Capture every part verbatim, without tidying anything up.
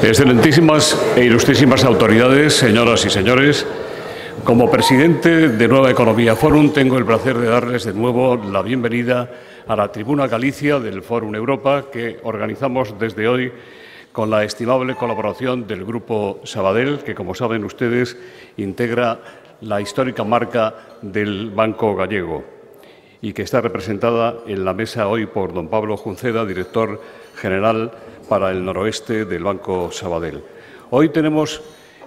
Excelentísimas e ilustrísimas autoridades, señoras y señores, como presidente de Nueva Economía Fórum tengo el placer de darles de nuevo la bienvenida a la Tribuna Galicia del Fórum Europa que organizamos desde hoy con la estimable colaboración del Grupo Sabadell, que, como saben ustedes, integra la histórica marca del Banco Gallego y que está representada en la mesa hoy por don Pablo Junceda, director general para el noroeste del Banco Sabadell. Hoy tenemos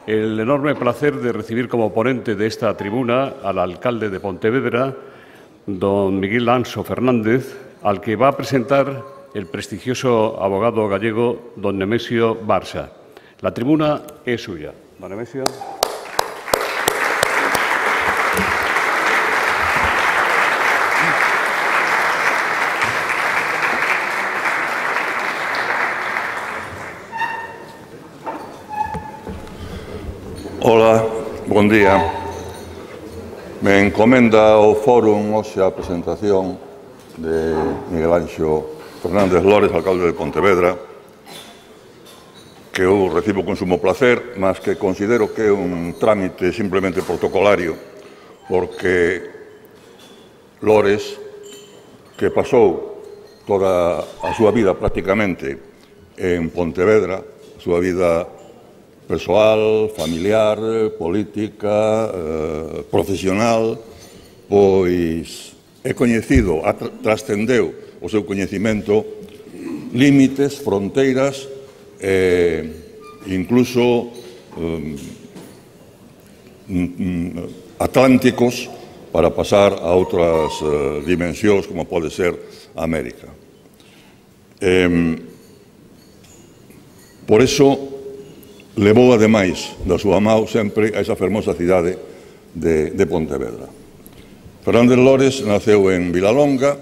el enorme placer de recibir como ponente de esta tribuna al alcalde de Pontevedra, don Miguel Anso Fernández, al que va a presentar el prestigioso abogado gallego don Nemesio Barça. La tribuna es suya. Don Nemesio. Hola, bon día. Me encomenda ao Fórum hoxe a presentación de Miguel Anxo Fernández Lores, alcalde de Pontevedra, que eu recibo con sumo placer, mas que considero que é un trámite simplemente protocolario, porque Lores, que pasou toda a súa vida prácticamente en Pontevedra, a súa vida persoal, familiar, política, eh, profesional, pois é coñecido, trascendeu o seu coñecimento límites, fronteiras, eh, incluso eh, atlánticos para pasar a outras eh, dimensións como pode ser América. Eh, por eso, levou, ademais, da súa mão sempre a esa fermosa cidade de, de Pontevedra. Fernández Lores naceu en Vilalonga,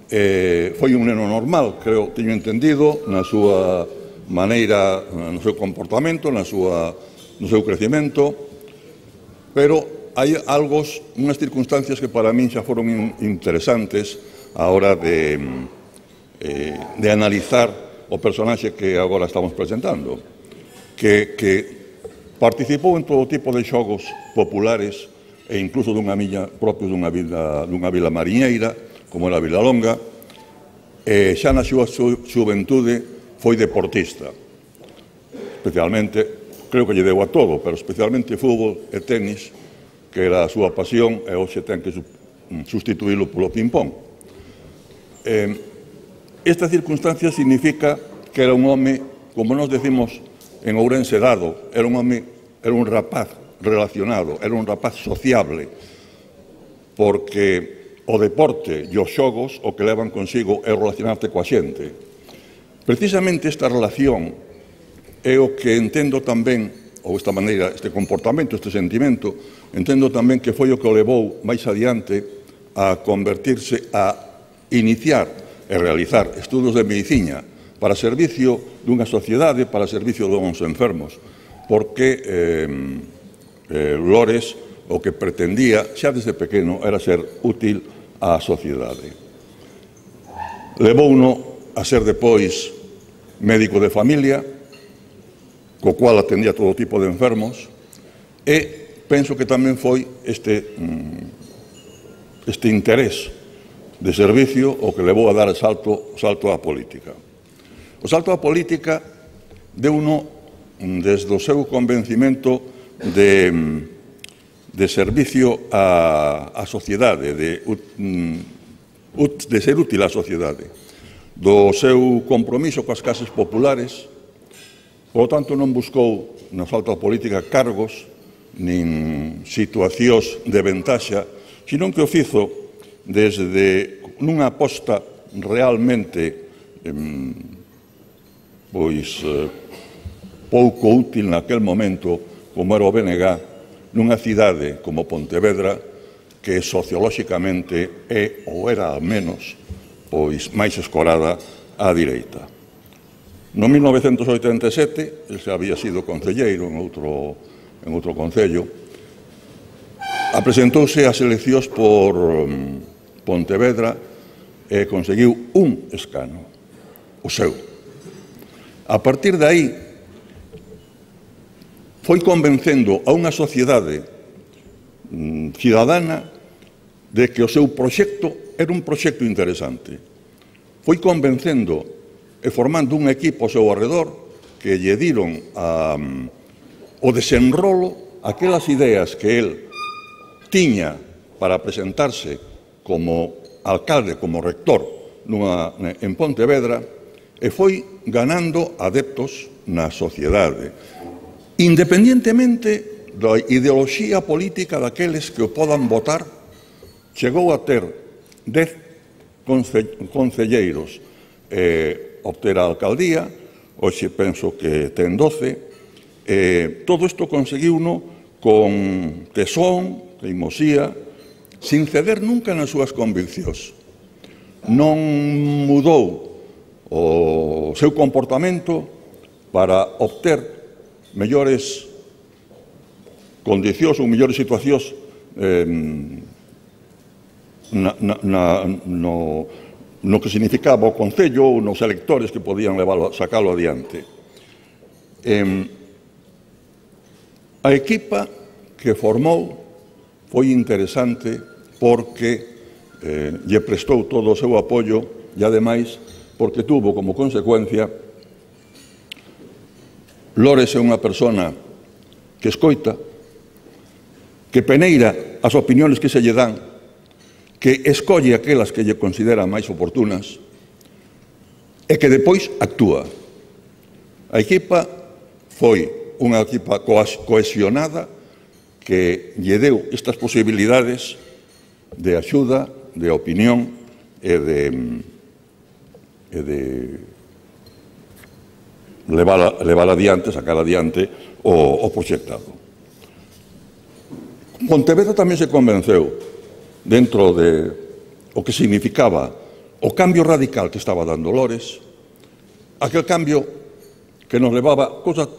eh, foi un neno normal, creo, teño entendido, na súa maneira, no seu comportamento, na súa, no seu crecimento, pero hai algo, unhas circunstancias que para min xa foron interesantes a hora de, eh, de analizar o personaxe que agora estamos presentando. Que, que participou en todo tipo de xogos populares e incluso dunha milla propio dunha vila, dunha vila mariñeira, como era Vilalonga, e xa na súa xuventude foi deportista. Especialmente, creo que lle deu a todo, pero especialmente fútbol e tenis, que era a súa pasión, e hoxe ten que sustituílo polo ping-pong. Eh, esta circunstancia significa que era un home, como nos decimos en Ourense dado, era un home, era un rapaz relacionado, era un rapaz sociable, porque o deporte e os xogos o que levan consigo é relacionarte coa xente. Precisamente esta relación é o que entendo tamén, ou esta maneira, este comportamento, este sentimento, entendo tamén que foi o que o levou máis adiante a convertirse, a iniciar e realizar estudos de medicina para servicio dunha sociedade, para servicio dos enfermos, porque eh, eh, Lores o que pretendía, xa desde pequeno, era ser útil á sociedade. Levouno a ser depois médico de familia, co cual atendía todo tipo de enfermos, e penso que tamén foi este, este interés de servicio o que levou a dar o salto, salto á política. O salto á política deuno desde o seu convencimento de, de servicio á, á sociedade, de, de ser útil á sociedade, do seu compromiso coas clases populares. Por lo tanto, non buscou no salto á política cargos nin situacións de ventaxa, sino que o fizo desde nunha aposta realmente eh, pois eh, pouco útil naquel momento, como era o B N G, nunha cidade como Pontevedra, que sociolóxicamente é, ou era ao menos, pois máis escorada á direita. No mil novecentos oitenta e sete, el xa había sido concelleiro en outro, en outro concello, apresentouse ás eleccións por um, Pontevedra e conseguiu un escano, o seu. A partir de aí, foi convencendo a unha sociedade mm, cidadana de que o seu proxecto era un proxecto interesante. Foi convencendo e formando un equipo ao seu arredor que lle diron a, o desenrolo aquelas ideas que el tiña para presentarse como alcalde, como rector nunha, en Pontevedra, e foi ganando adeptos na sociedade, independientemente da ideoloxía política daqueles que o podan votar. Chegou a ter dez concelleiros eh, obter a alcaldía, hoxe penso que ten doce. Eh, todo isto conseguiuno con tesón, teimosía, sin ceder nunca nas súas conviccións. Non mudou o seu comportamento para obter mellores condicións ou mellores situacións eh, Na, na, no, no que significaba o Concello ou nos electores que podían leválo, sacalo adiante. Eh, a equipa que formou foi interesante porque eh, lle prestou todo o seu apoio e, ademais, porque tuvo como consecuencia Lores é unha persona que escoita, que peneira as opinións que se lle dan, que escolle aquelas que lle considera máis oportunas e que depois actúa. A equipa foi unha equipa cohesionada que lle deu estas posibilidades de axuda, de opinión e de, e de levar, levar adiante, sacar adiante o, o proxectado. Pontevedra tamén se convenceu dentro de o que significaba o cambio radical que estaba dando Lores, aquel cambio que nos levaba a cosas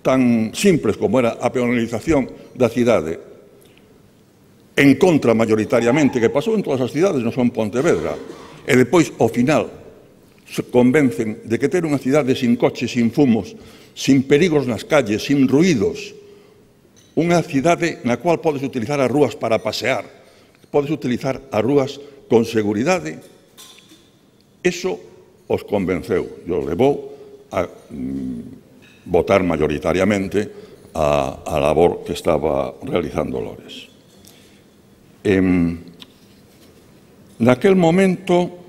tan simples como era a peonalización da cidade, en contra mayoritariamente, que pasou en todas as cidades, non son Pontevedra, e depois, ao final, se convencen de que ter unha cidade sin coches, sin fumos, sin perigos nas calles, sin ruídos, unha cidade na cual podes utilizar as rúas para pasear, podes utilizar as rúas con seguridade, eso os convenceu e os levou a mm, votar mayoritariamente a, a labor que estaba realizando Lores. En, naquel momento,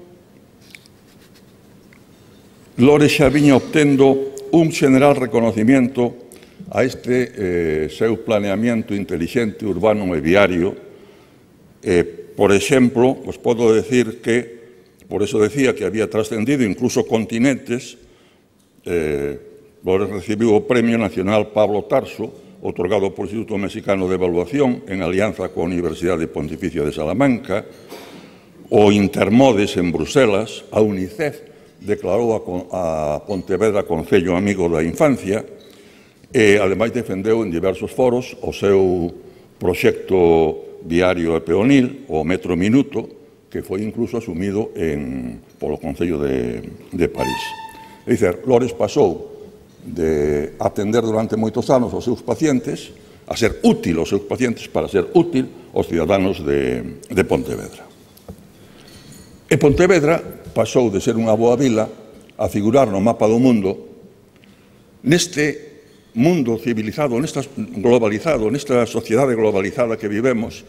Lores xa viña obtendo un general reconocimiento a este eh, seu planeamiento intelixente, urbano e viario. Eh, por exemplo, os podo decir que, por eso decía que había trascendido incluso continentes, eh, Lores recibiu o Premio Nacional Pablo Tarso, otorgado por Instituto Mexicano de Evaluación en alianza coa Universidade Pontificia de Salamanca, o Intermodes en Bruselas, a UNICEF declarou a, a Pontevedra Concello Amigo da Infancia e, ademais, defendeu en diversos foros o seu proxecto viario e peonil, o Metro Minuto, que foi incluso asumido en, polo Concello de, de París. É dicir, Lores pasou de atender durante moitos anos aos seus pacientes a ser útil aos seus pacientes para ser útil aos ciudadanos de, de Pontevedra. E Pontevedra pasou de ser unha boa vila a figurar no mapa do mundo neste mundo civilizado, nesta globalizado, nesta sociedade globalizada que vivemos,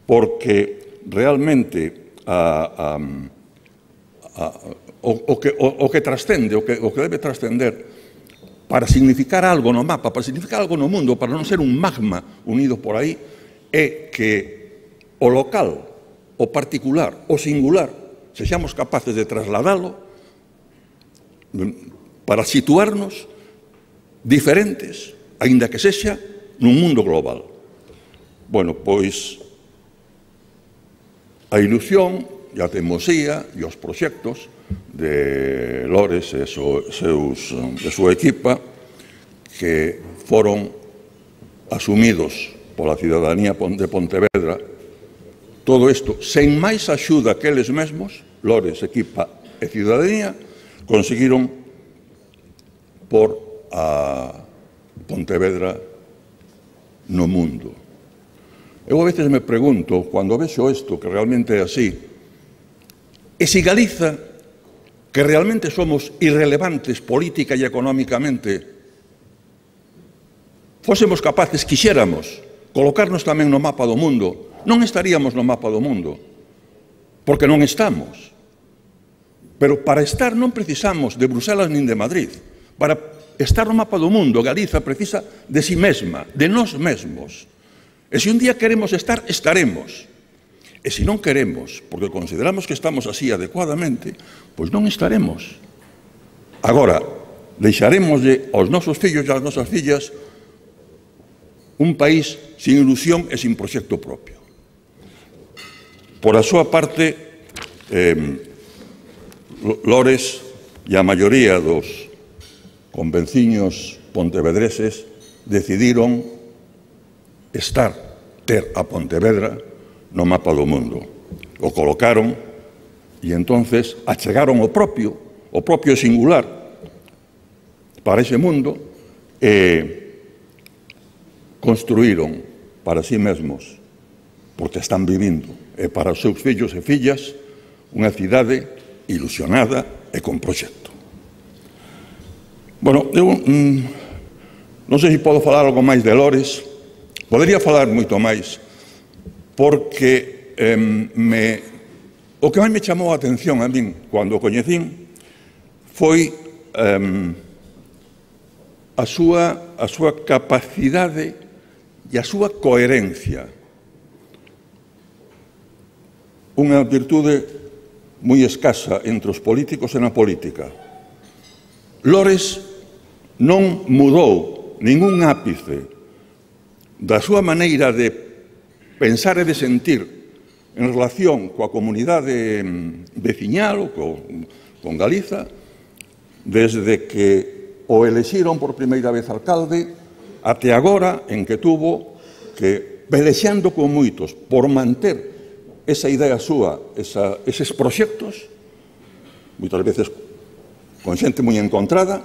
porque realmente a, a, a, o, o, que, o, o que trascende, o que, o que debe trascender para significar algo no mapa, para significar algo no mundo, para non ser un magma unido por aí, é que o local, o particular, o singular, sexamos capaces de trasladalo para situarnos diferentes, aínda que sexa nun mundo global. Bueno, pois a ilusión e a teimosía e os proxectos de Lores e seus, de súa equipa que foron asumidos pola cidadanía de Pontevedra, todo isto, sen máis axuda que eles mesmos, Lores, equipa e cidadanía, conseguiron por a Pontevedra no mundo. Eu a veces me pregunto, cando vexo isto, que realmente é así, e se Galiza, que realmente somos irrelevantes política e económicamente, fósemos capaces, quixéramos, colocarnos tamén no mapa do mundo, non estaríamos no mapa do mundo, porque non estamos. Pero para estar non precisamos de Bruselas nin de Madrid. Para estar no mapa do mundo, Galiza precisa de si mesma, de nós mesmos. E se un día queremos estar, estaremos. E se non queremos, porque consideramos que estamos así adecuadamente, pois non estaremos. Agora, deixaremoslle aos nosos fillos e ás nosas fillas un país sin ilusión e sin proxecto propio. Por a súa parte, eh, Lores e a maioría dos convenciños pontevedreses decidiron estar, ter a Pontevedra no mapa do mundo. O colocaron e entonces achegaron o propio, o propio singular para ese mundo e construíron para sí mesmos, porque están vivindo, e para os seus fillos e fillas, unha cidade ilusionada e con proxecto. Bueno, eu mm, non sei se podo falar algo máis de Lores. Podería falar moito máis, porque eh, me, o que máis me chamou a atención a min cando o coñecín foi eh, a, súa, a súa capacidade e a súa coherencia. Unha virtude moi escasa entre os políticos e na política. Lores non mudou ningún ápice da súa maneira de pensar e de sentir en relación coa comunidade veciñal ou co, con Galiza, desde que o elexiron por primeira vez alcalde até agora en que tuvo que, pelexando con moitos por manter esa idea súa, esa, eses proxectos, moitas veces con xente moi encontrada,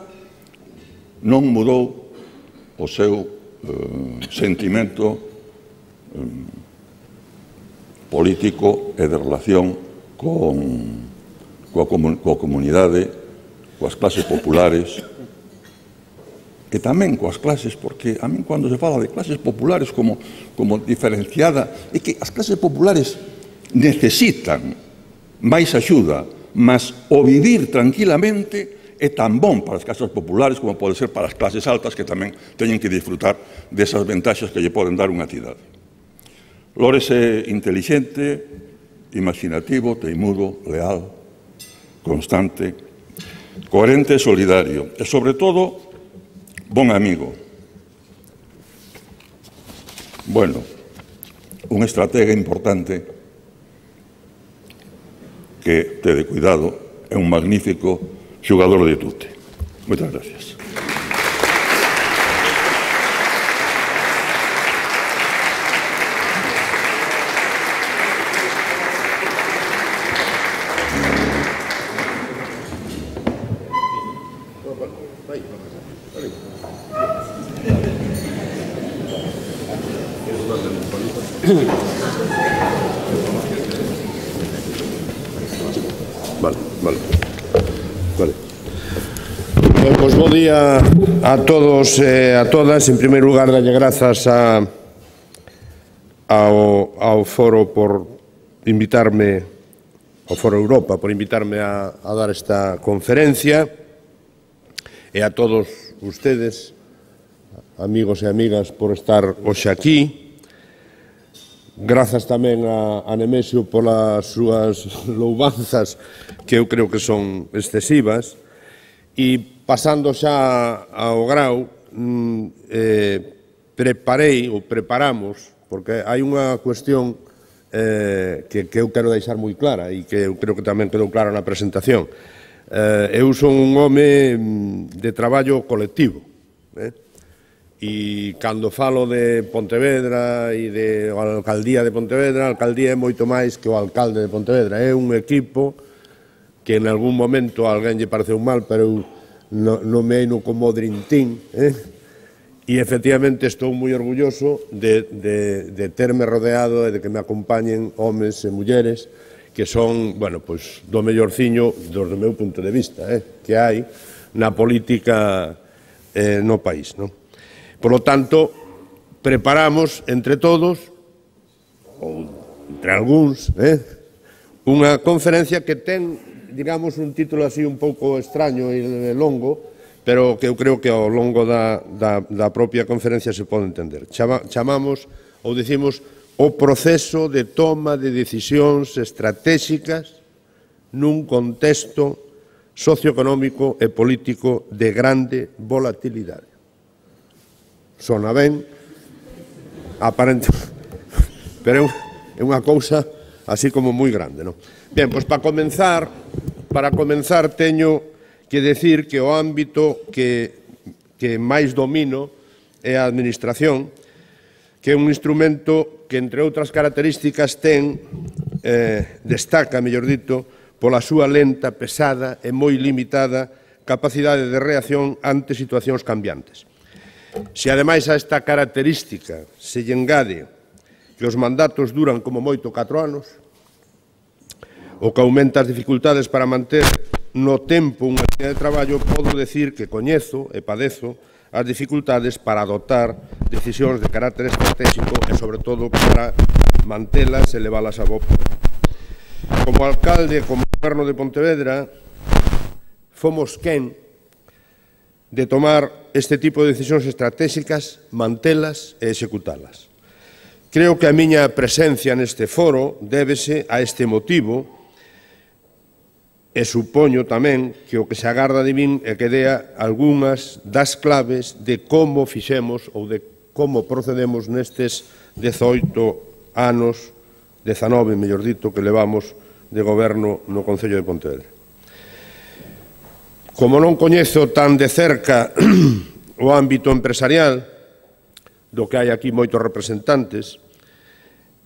non mudou o seu Uh, sentimento um, político e de relación con, coa, comun, coa comunidade, coas clases populares e tamén coas clases, porque a min cando se fala de clases populares como, como diferenciada, é que as clases populares necesitan máis axuda, mas o vivir tranquilamente é tan bon para as casas populares como pode ser para as clases altas que tamén teñen que disfrutar desas ventaxas que lle poden dar unha cidade. Lores é intelixente, imaginativo, teimudo, leal, constante, coherente e solidario e, sobre todo, bon amigo. Bueno, un estratega importante que, tede cuidado, é un magnífico xogador de tute. Moitas gracias. Vale, vale. Vale. Ben, pois bo día a todos e a todas. En primeiro lugar, dalle grazas a, ao, ao Foro por invitarme, ao Foro Europa, por invitarme a, a dar esta conferencia, e a todos ustedes, amigos e amigas, por estar hoxe aquí. Grazas tamén a, a Nemesio polas súas louvanzas, que eu creo que son excesivas. E pasando xa ao grau, eh, preparei, ou preparamos, porque hai unha cuestión eh, que, que eu quero deixar moi clara e que eu creo que tamén quedou clara na presentación. Eh, eu son un home de traballo colectivo, eh? E cando falo de Pontevedra e de a alcaldía de Pontevedra, a alcaldía é moito máis que o alcalde de Pontevedra. É un equipo que en algún momento a alguén lle pareceu mal, pero eu nomeei-no como Dream Team, eh? E, efectivamente, estou moi orgulloso de, de, de terme rodeado e de que me acompañen homes e mulleres que son, bueno, pois, do mellorciño, do meu punto de vista, eh, que hai na política eh, no país. No? Por lo tanto, preparamos entre todos, ou entre algúns, eh, unha conferencia que ten, digamos, un título así un pouco extraño e longo, pero que eu creo que ao longo da, da, da propia conferencia se pode entender. Chama, chamamos, ou dicimos, o proceso de toma de decisións estratégicas nun contexto socioeconómico e político de grande volatilidade. Sona ben, aparente, pero é unha cousa así como moi grande, non? Ben, pois para comenzar, para comenzar teño que decir que o ámbito que, que máis domino é a administración, que é un instrumento que, entre outras características, ten, eh, destaca, mellor dito, pola súa lenta, pesada e moi limitada capacidade de reacción ante situacións cambiantes. Se, ademais, a esta característica se lle engade que os mandatos duran como moito catro anos, o que aumenta as dificultades para manter no tempo unha línea de traballo, podo decir que coñezo e padezo as dificultades para adoptar decisións de carácter estratégico e, sobre todo, para mantelas e leválas a bo porto. Como alcalde, como goberno de Pontevedra, fomos quen de tomar este tipo de decisións estratégicas, mantelas e executalas. Creo que a miña presencia neste foro débese a este motivo. E supoño tamén que o que se agarda de min é que dea algunhas das claves de como fixemos ou de como procedemos nestes dezoito anos, dezanove, mellor dito, que levamos de goberno no Concello de Pontevedra. Como non coñezo tan de cerca o ámbito empresarial, do que hai aquí moitos representantes,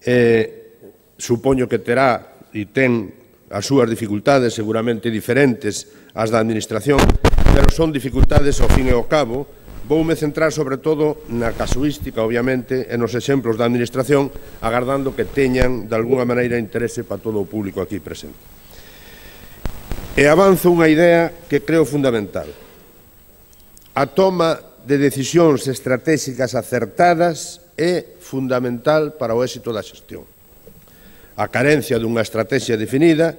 eh, supoño que terá e ten as súas dificultades seguramente diferentes ás da administración, pero son dificultades ao fin e ao cabo. Voume centrar sobre todo na casuística, obviamente, e nos exemplos da administración, agardando que teñan de alguna maneira interese para todo o público aquí presente. E avanzo unha idea que creo fundamental. A toma de decisións estratégicas acertadas é fundamental para o éxito da xestión. A carencia dunha estrategia definida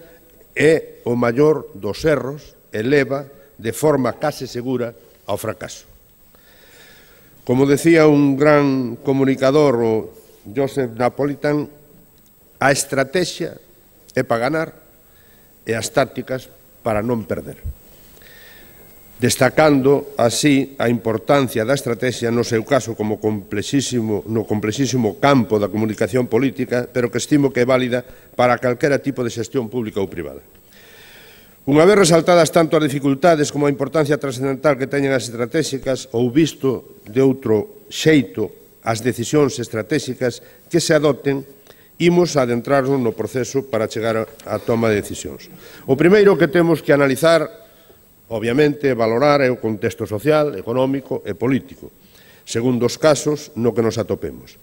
é o maior dos erros e leva de forma case segura ao fracaso. Como decía un gran comunicador, o Joseph Napolitan, a estrategia é para ganar e as tácticas para non perder. Destacando así a importancia da estrategia no seu caso como complexísimo, no complexísimo campo da comunicación política, pero que estimo que é válida para calquera tipo de xestión pública ou privada. Unha vez resaltadas tanto as dificultades como a importancia trascendental que teñen as estratégicas, ou visto de outro xeito as decisións estratégicas que se adopten, imos a adentrarnos no proceso para chegar á toma de decisións. O primeiro que temos que analizar, obviamente, valorar é o contexto social, económico e político, segundo os casos no que nos atopemos.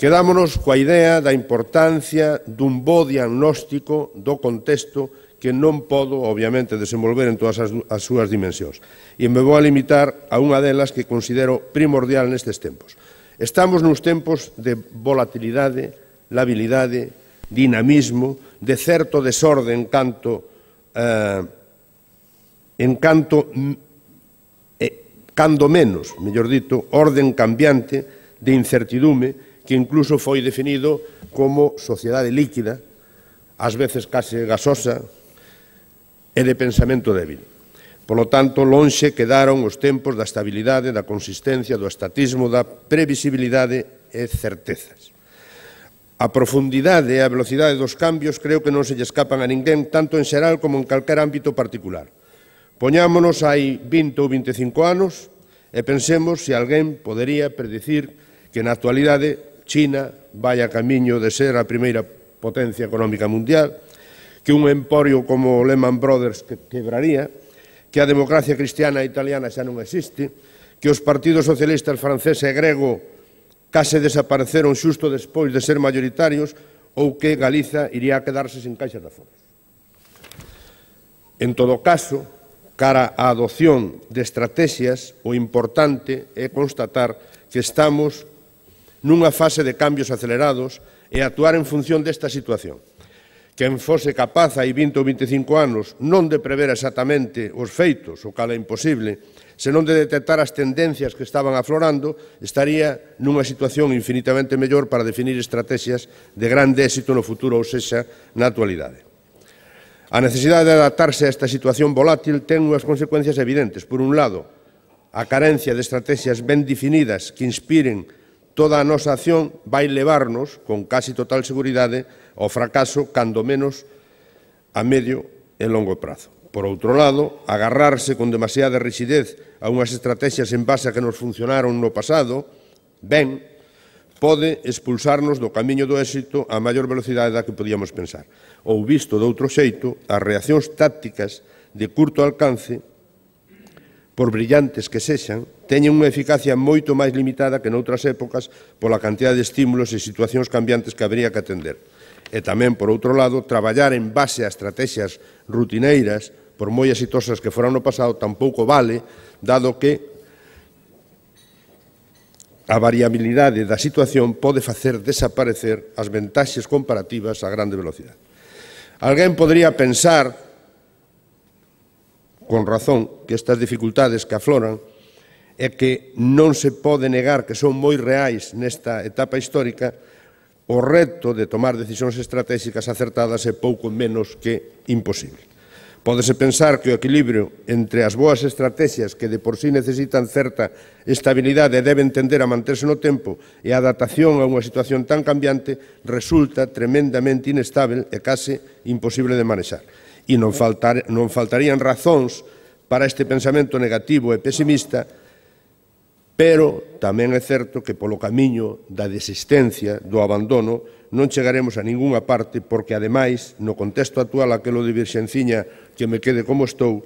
Quedámonos coa idea da importancia dun bo diagnóstico do contexto que non podo, obviamente, desenvolver en todas as, as súas dimensións. E me vou a limitar a unha delas que considero primordial nestes tempos. Estamos nos tempos de volatilidade, labilidade, dinamismo, de certo desorden canto... Eh, en canto, eh, cando menos, mellor dito, orden cambiante de incertidume que incluso foi definido como sociedade líquida, ás veces case gasosa, e de pensamento débil. Polo tanto, lonxe quedaron os tempos da estabilidade, da consistencia, do estatismo, da previsibilidade e certezas. A profundidade e a velocidade dos cambios creo que non se lle escapan a ninguén, tanto en xeral como en calquer ámbito particular. Poñámonos hai vinte ou vinte e cinco anos e pensemos se alguén podería predicir que na actualidade China vai a camiño de ser a primeira potencia económica mundial, que un emporio como Lehman Brothers que quebraría, que a democracia cristiana italiana xa non existe, que os partidos socialistas francés e grego case desapareceron xusto despois de ser maioritarios ou que Galiza iría a quedarse sen caixa de aforos. En todo caso, cara á adopción de estrategias, o importante é constatar que estamos nunha fase de cambios acelerados e actuar en función desta situación. Quen fose capaz hai vinte ou vinte e cinco anos non de prever exactamente os feitos, o cal é imposible, senón de detectar as tendencias que estaban aflorando, estaría nunha situación infinitamente mellor para definir estrategias de grande éxito no futuro, ou sexa, na actualidade. A necesidade de adaptarse a esta situación volátil ten unhas consecuencias evidentes. Por un lado, a carencia de estrategias ben definidas que inspiren toda a nosa acción vai levarnos, con casi total seguridade, ao fracaso, cando menos a medio e longo prazo. Por outro lado, agarrarse con demasiada rigidez a unhas estrategias en base a que nos funcionaron no pasado, ben, pode expulsarnos do camiño do éxito a maior velocidade da que podíamos pensar. Ou, visto de outro xeito, as reaccións tácticas de curto alcance, por brillantes que sexan, teñen unha eficacia moito máis limitada que noutras épocas pola cantidad de estímulos e situacións cambiantes que habría que atender. E tamén, por outro lado, traballar en base a estrategias rutineiras, por moi exitosas que foran no pasado, tampouco vale, dado que a variabilidade da situación pode facer desaparecer as ventaxes comparativas a grande velocidade. Alguén podría pensar, con razón, que estas dificultades que afloran é que non se pode negar que son moi reais nesta etapa histórica. O reto de tomar decisións estratégicas acertadas é pouco menos que imposible. Pódese pensar que o equilibrio entre as boas estrategias que de por sí necesitan certa estabilidade e deben tender a manterse no tempo e a adaptación a unha situación tan cambiante resulta tremendamente inestável e case imposible de manexar. E non, faltar, non faltarían razóns para este pensamento negativo e pesimista, pero tamén é certo que polo camiño da desistencia, do abandono, non chegaremos a ningunha parte porque, ademais, no contexto actual aquelo de virxenciña que me quede como estou,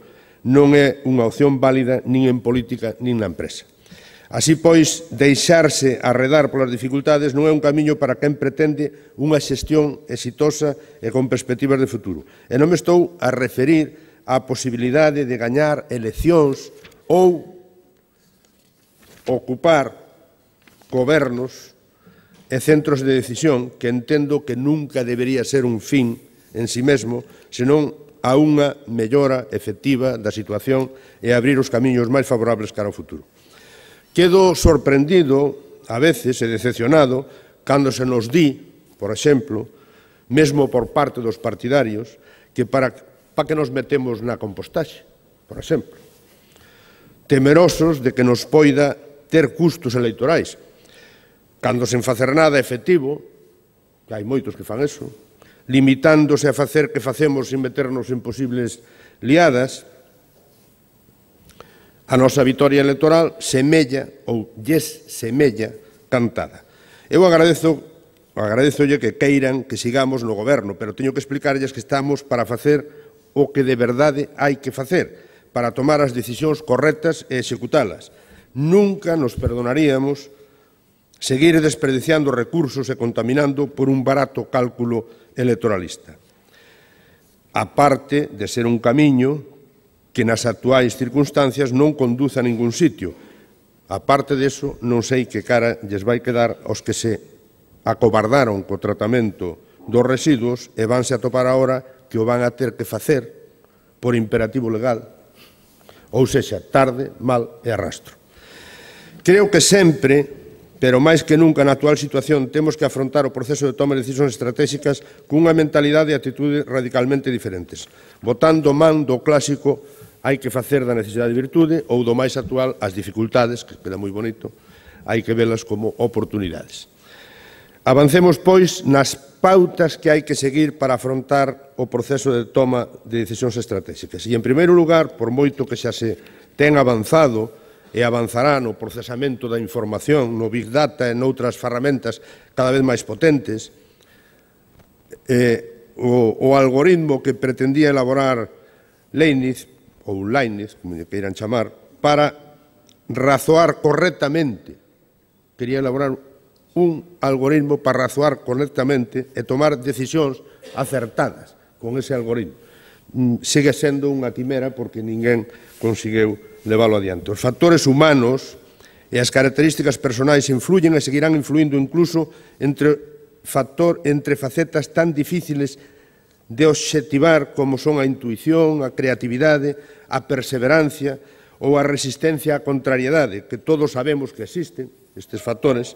non é unha opción válida nin en política nin na empresa. Así pois, deixarse arredar polas dificultades non é un camiño para quen pretende unha xestión exitosa e con perspectivas de futuro. E non me estou a referir á posibilidade de gañar eleccións ou ocupar gobernos e centros de decisión que entendo que nunca debería ser un fin en si mesmo, senón a unha mellora efectiva da situación e abrir os camiños máis favorables cara ao futuro. Quedo sorprendido, a veces, e decepcionado, cando se nos di, por exemplo, mesmo por parte dos partidarios, que para, para que nos metemos na compostaxe, por exemplo, temerosos de que nos poida ter custos electorais, cando sen facer nada efectivo, que hai moitos que fan eso, limitándose a facer que facemos sin meternos en posibles liadas, a nosa vitoria electoral semella, ou lles semella, cantada. Eu agradezo, agradezolle que queiran que sigamos no goberno, pero teño que explicarlles que estamos para facer o que de verdade hai que facer, para tomar as decisións correctas e executalas. Nunca nos perdonaríamos seguir desperdiciando recursos e contaminando por un barato cálculo electoralista. A parte de ser un camiño que nas actuais circunstancias non conduce a ningún sitio. A parte deso, non sei que cara lles vai quedar aos que se acobardaron co tratamento dos residuos e vanse a topar agora que o van a ter que facer por imperativo legal, ou sexa, tarde, mal e arrastro. Creo que sempre, pero máis que nunca na actual situación, temos que afrontar o proceso de toma de decisións estratégicas cunha mentalidade e atitude radicalmente diferentes, botando man do clásico hai que facer da necesidade de virtude ou do máis actual as dificultades, que queda moi bonito, hai que velas como oportunidades. Avancemos, pois, nas pautas que hai que seguir para afrontar o proceso de toma de decisións estratégicas. E, en primeiro lugar, por moito que xa se ten avanzado e avanzará no procesamento da información, no Big Data e noutras ferramentas cada vez máis potentes, eh, o, o algoritmo que pretendía elaborar Leibniz, ou Leibniz, como lle queiran chamar, para razoar correctamente, quería elaborar un algoritmo para razoar correctamente e tomar decisións acertadas con ese algoritmo. Sigue sendo unha quimera porque ninguén conseguiu leválo adiante. Os factores humanos e as características personais influyen e seguirán influindo incluso entre, factor, entre facetas tan difíciles de obxectivar como son a intuición, a creatividade, a perseverancia ou a resistencia á contrariedade, que todos sabemos que existen, estes factores,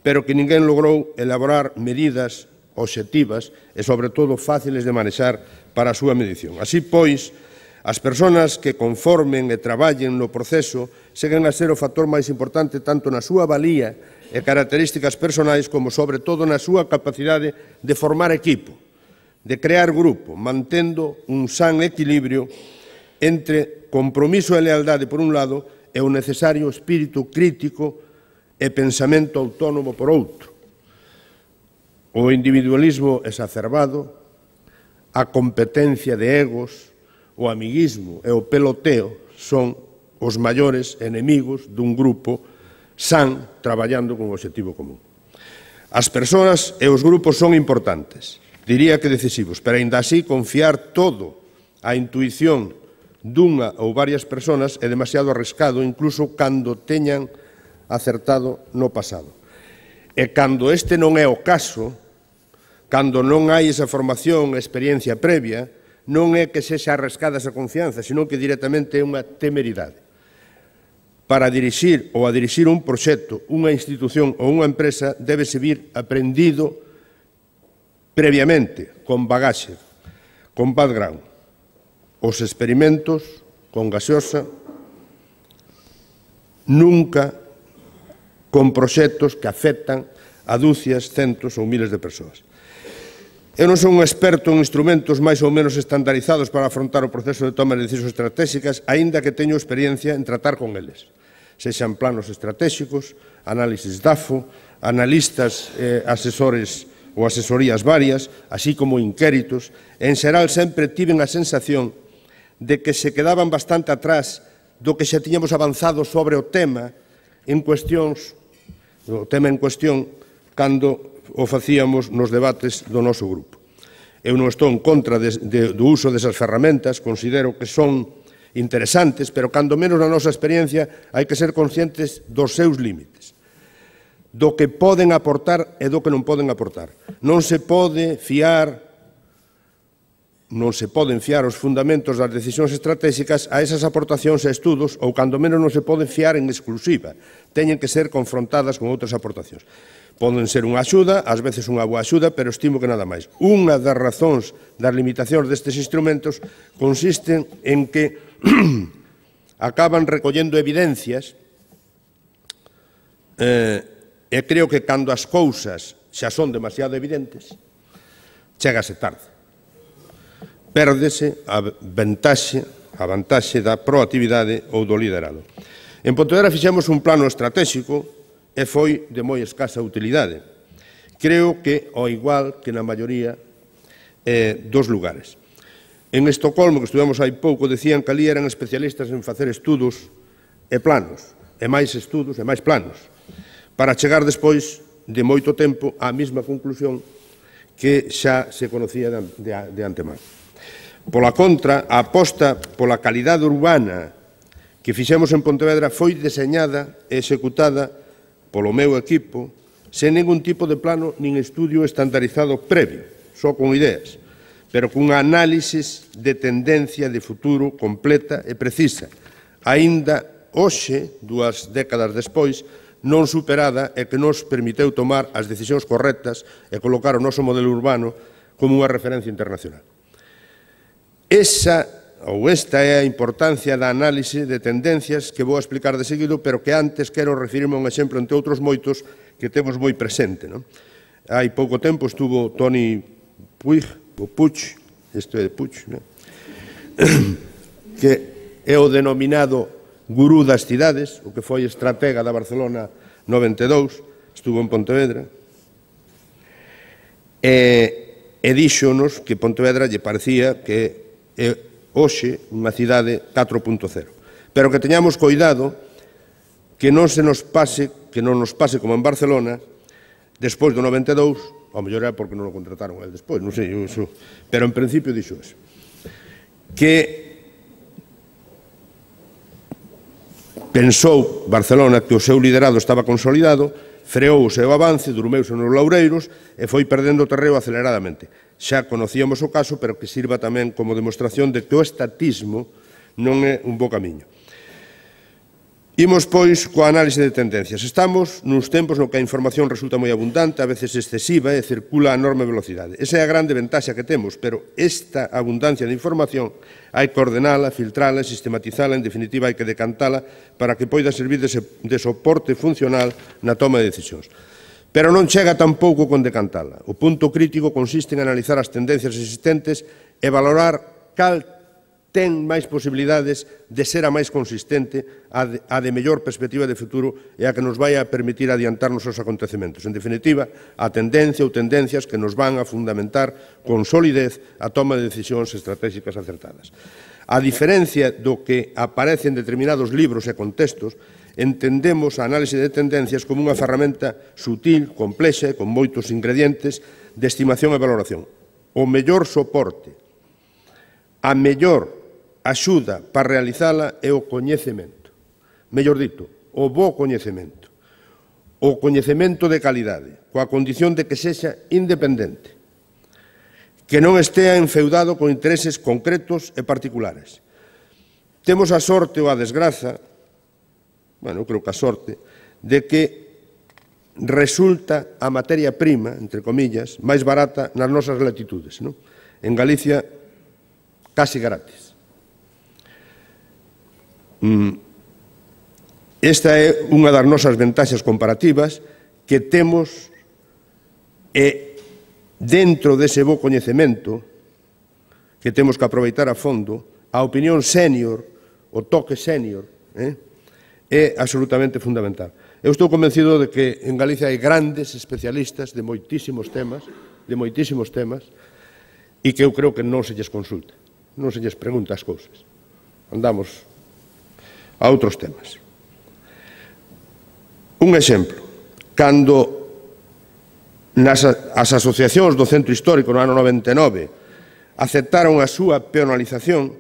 pero que ninguén logrou elaborar medidas obxectivas e, sobre todo, fáciles de manexar para a súa medición. Así, pois, as persoas que conformen e traballen no proceso seguen a ser o factor máis importante tanto na súa valía e características personais como, sobre todo, na súa capacidade de formar equipo, de crear grupo, mantendo un san equilibrio entre compromiso e lealdade, por un lado, e o necesario espírito crítico e pensamento autónomo por outro. O individualismo exacerbado, a competencia de egos, o amiguismo e o peloteo son os maiores enemigos dun grupo san traballando con o obxectivo común. As persoas e os grupos son importantes, diría que decisivos, pero aínda así confiar todo á intuición dunha ou varias persoas é demasiado arriscado, incluso cando teñan acertado no pasado. E cando este non é o caso, cando non hai esa formación e experiencia previa, non é que sexa arriscada esa confianza, senón que directamente é unha temeridade. Para dirixir ou a dirixir un proxecto, unha institución ou unha empresa debe vir aprendido previamente, con bagaxe, con background. Os experimentos con gaseosa nunca con proxectos que afectan a dúcias, centos ou miles de persoas. Eu non son un experto en instrumentos máis ou menos estandarizados para afrontar o proceso de toma de decisións estratégicas, aínda que teño experiencia en tratar con eles. Sexan planos estratégicos, análisis D A F O, analistas, eh, asesores ou asesorías varias, así como inquéritos. En xeral, sempre tiven a sensación de que se quedaban bastante atrás do que xa tiñamos avanzado sobre o tema en cuestións, o tema en cuestión, cando o facíamos nos debates do noso grupo. Eu non estou en contra de, de, do uso desas ferramentas, considero que son interesantes, pero cando menos na nosa experiencia hai que ser conscientes dos seus límites, do que poden aportar e do que non poden aportar. Non se pode fiar non se poden fiar os fundamentos das decisións estratégicas a esas aportacións e estudos, ou cando menos non se poden fiar en exclusiva. Teñen que ser confrontadas con outras aportacións. Poden ser unha axuda, ás veces unha boa axuda, pero estimo que nada máis. Unha das razóns das limitacións destes instrumentos consiste en que acaban recollendo evidencias eh, e creo que cando as cousas xa son demasiado evidentes, chégase tarde. Pérdese a vantaxe, a vantaxe da proactividade ou do liderado. En Pontevedra fixemos un plano estratégico e foi de moi escasa utilidade. Creo que, ao igual que na maioría eh, dos lugares. En Estocolmo, que estuvemos hai pouco, decían que ali eran especialistas en facer estudos e planos, e máis estudos e máis planos, para chegar despois de moito tempo á mesma conclusión que xa se conocía de, de, de antemano. Pola contra, a aposta pola calidade urbana que fixemos en Pontevedra foi deseñada e executada polo meu equipo sen ningún tipo de plano nin estudio estandarizado previo, só con ideas, pero cunha análisis de tendencia de futuro completa e precisa, aínda hoxe, dúas décadas despois, non superada e que nos permiteu tomar as decisións correctas e colocar o noso modelo urbano como unha referencia internacional. Esa ou esta é a importancia da análise de tendencias que vou explicar de seguido, pero que antes quero referirme a un exemplo entre outros moitos que temos moi presente. Non? Hai pouco tempo estuvo Toni Puig, ou Puig, isto é de Puig, non? Que é o denominado gurú das cidades, o que foi estratega da Barcelona noventa e dous, estuvo en Pontevedra, e, e díxonos que Pontevedra lle parecía que é hoxe unha cidade catro punto cero. Pero que teñamos cuidado que non se nos pase, que non nos pase como en Barcelona, despois do noventa e dous, ao mellor era porque non o contrataron el despois, non sei, iso, pero en principio dixo eso, que pensou Barcelona que o seu liderado estaba consolidado, freou o seu avance, durmeuse nos laureiros e foi perdendo terreo aceleradamente. Xa conocíamos o caso, pero que sirva tamén como demostración de que o estatismo non é un bo camiño. Imos, pois, coa análise de tendencias. Estamos nuns tempos no que a información resulta moi abundante, a veces excesiva, e circula a enorme velocidade. Esa é a grande ventaxa que temos, pero esta abundancia de información hai que ordenala, filtrala, sistematizala, en definitiva hai que decantala para que poida servir de, de soporte funcional na toma de decisións. Pero non chega tampouco con decantala. O punto crítico consiste en analizar as tendencias existentes e valorar cal ten máis posibilidades de ser a máis consistente, a de, a de mellor perspectiva de futuro e a que nos vai a permitir adiantarnos aos acontecementos. En definitiva, a tendencia ou tendencias que nos van a fundamentar con solidez a toma de decisións estratégicas acertadas. A diferencia do que aparece en determinados libros e contextos, entendemos a análise de tendencias como unha ferramenta sutil, complexa e con moitos ingredientes de estimación e valoración. O mellor soporte, a mellor axuda para realizala é o coñecemento. Mellor dito, o bo coñecemento. O coñecemento de calidade, coa condición de que sexa independente, que non estea enfeudado con intereses concretos e particulares. Temos a sorte ou a desgraza, bueno, creo que a sorte, de que resulta a materia prima, entre comillas, máis barata nas nosas latitudes, non? En Galicia, casi gratis. Esta é unha das nosas ventaxas comparativas que temos e dentro dese bo coñecemento que temos que aproveitar a fondo, a opinión sénior, o toque sénior, eh, é absolutamente fundamental. Eu estou convencido de que en Galicia hai grandes especialistas de moitísimos temas, de moitísimos temas, e que eu creo que non se lles consulta, non se lles pregunta as cousas. Andamos a outros temas. Un exemplo, cando nas, as asociacións do Centro Histórico no ano noventa e nove aceptaron a súa peonalización,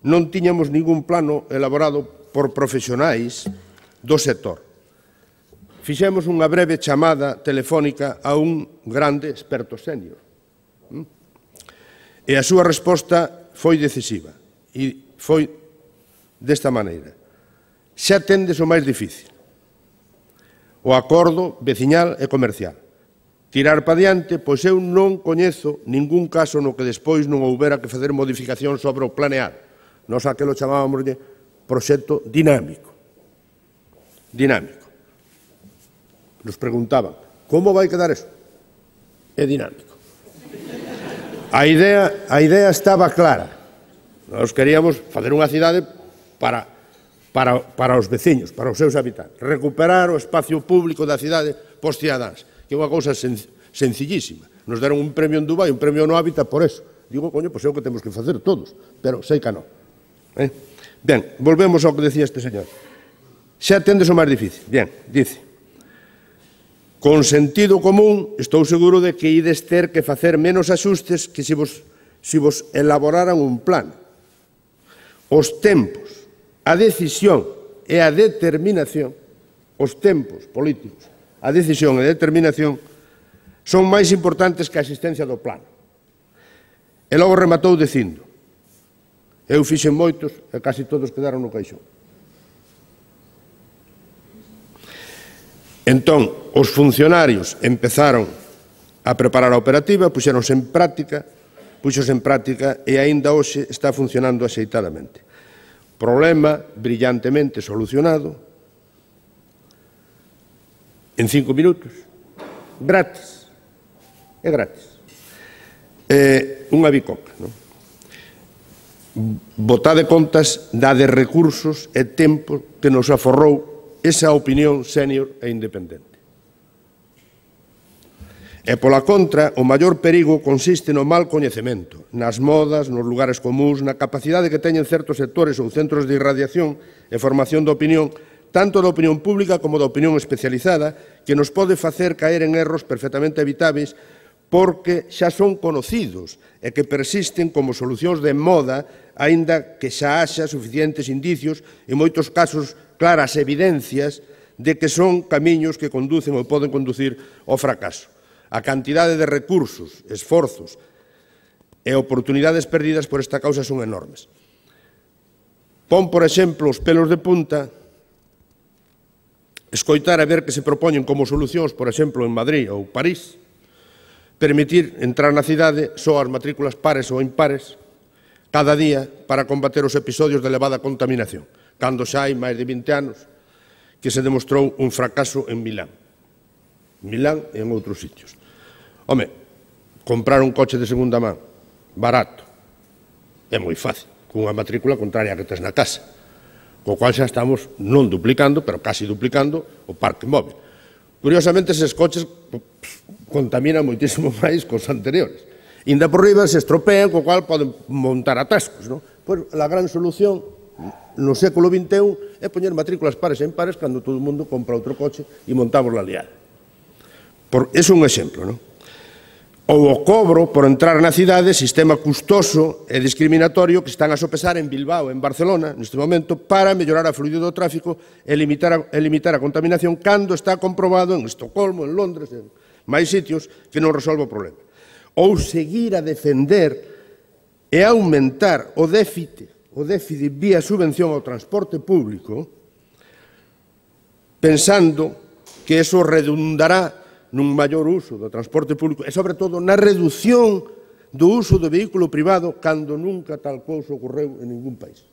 non tiñamos ningún plano elaborado por profesionais do sector. Fixemos unha breve chamada telefónica a un grande experto sénior. E a súa resposta foi decisiva e foi desta maneira. Xa tendes o máis difícil, o acordo veciñal e comercial. Tirar pa diante, pois eu non coñezo ningún caso no que despois non houbera que facer modificación sobre o planear. Nos aquelo chamábamos de proxecto dinámico. Dinámico. Nos preguntaban, como vai quedar eso? É dinámico. A idea, a idea estaba clara. Nós queríamos facer unha cidade para, para, para os veciños, para os seus habitantes. Recuperar o espacio público da cidade pos cidadáns, que é unha cousa sen, sencillísima. Nos deron un premio en Dubai, un premio no Hábitat por eso. Digo, coño, pois é o que temos que facer todos, pero sei que non. Eh? Ben, volvemos ao que decía este señor. Xa tendes o máis difícil. Bien, dice, con sentido común, estou seguro de que ides ter que facer menos axustes que se vos, se vos elaboraran un plan. Os tempos, a decisión e a determinación, os tempos políticos, a decisión e a determinación, son máis importantes que a existencia do plano. E logo rematou dicindo, eu fixen moitos e casi todos quedaron no caixón. Entón, os funcionarios empezaron a preparar a operativa, puxeronse en práctica, puxose en práctica e aínda hoxe está funcionando axeitadamente. Problema brillantemente solucionado en cinco minutos, gratis, é gratis. É unha bicoca, non? Botade contas da de recursos e tempo que nos aforrou esa opinión sénior e independente. E, pola contra, o maior perigo consiste no mal coñecemento, nas modas, nos lugares comuns, na capacidade que teñen certos sectores ou centros de irradiación e formación de opinión tanto da opinión pública como da opinión especializada, que nos pode facer caer en erros perfectamente evitáveis porque xa son conocidos e que persisten como solucións de moda, aínda que xa haxa suficientes indicios, en moitos casos claras evidencias, de que son camiños que conducen ou poden conducir ao fracaso. A cantidade de recursos, esforzos e oportunidades perdidas por esta causa son enormes. Pon, por exemplo, os pelos de punta escoitar e ver que se propoñen como solucións, por exemplo, en Madrid ou París, permitir entrar na cidade só as matrículas pares ou impares cada día para combater os episodios de elevada contaminación, cando xa hai máis de vinte anos que se demostrou un fracaso en Milán. Milán e en outros sitios. Home, comprar un coche de segunda man, barato, é moi fácil, cunha matrícula contraria que tes na casa, co cual xa estamos non duplicando, pero casi duplicando o parque móvil. Curiosamente, eses coches contaminan moitísimo máis que os anteriores. Inda por riba se estropean, co cual poden montar atascos, non? Pois a gran solución no século vinte e un é poñer matrículas pares e impares cando todo o mundo compra outro coche e montamos la liada. É un exemplo, non? Ou o cobro por entrar na cidade, sistema custoso e discriminatorio que están a sopesar en Bilbao, en Barcelona, neste momento, para mellorar a fluidez do tráfico e limitar a, e limitar a contaminación, cando está comprobado en Estocolmo, en Londres, en máis sitios, que non resolve o problema. Ou seguir a defender e aumentar o déficit, o déficit vía subvención ao transporte público, pensando que eso redundará nun maior uso do transporte público e, sobre todo, na reducción do uso do vehículo privado cando nunca tal cousa ocorreu en ningún país.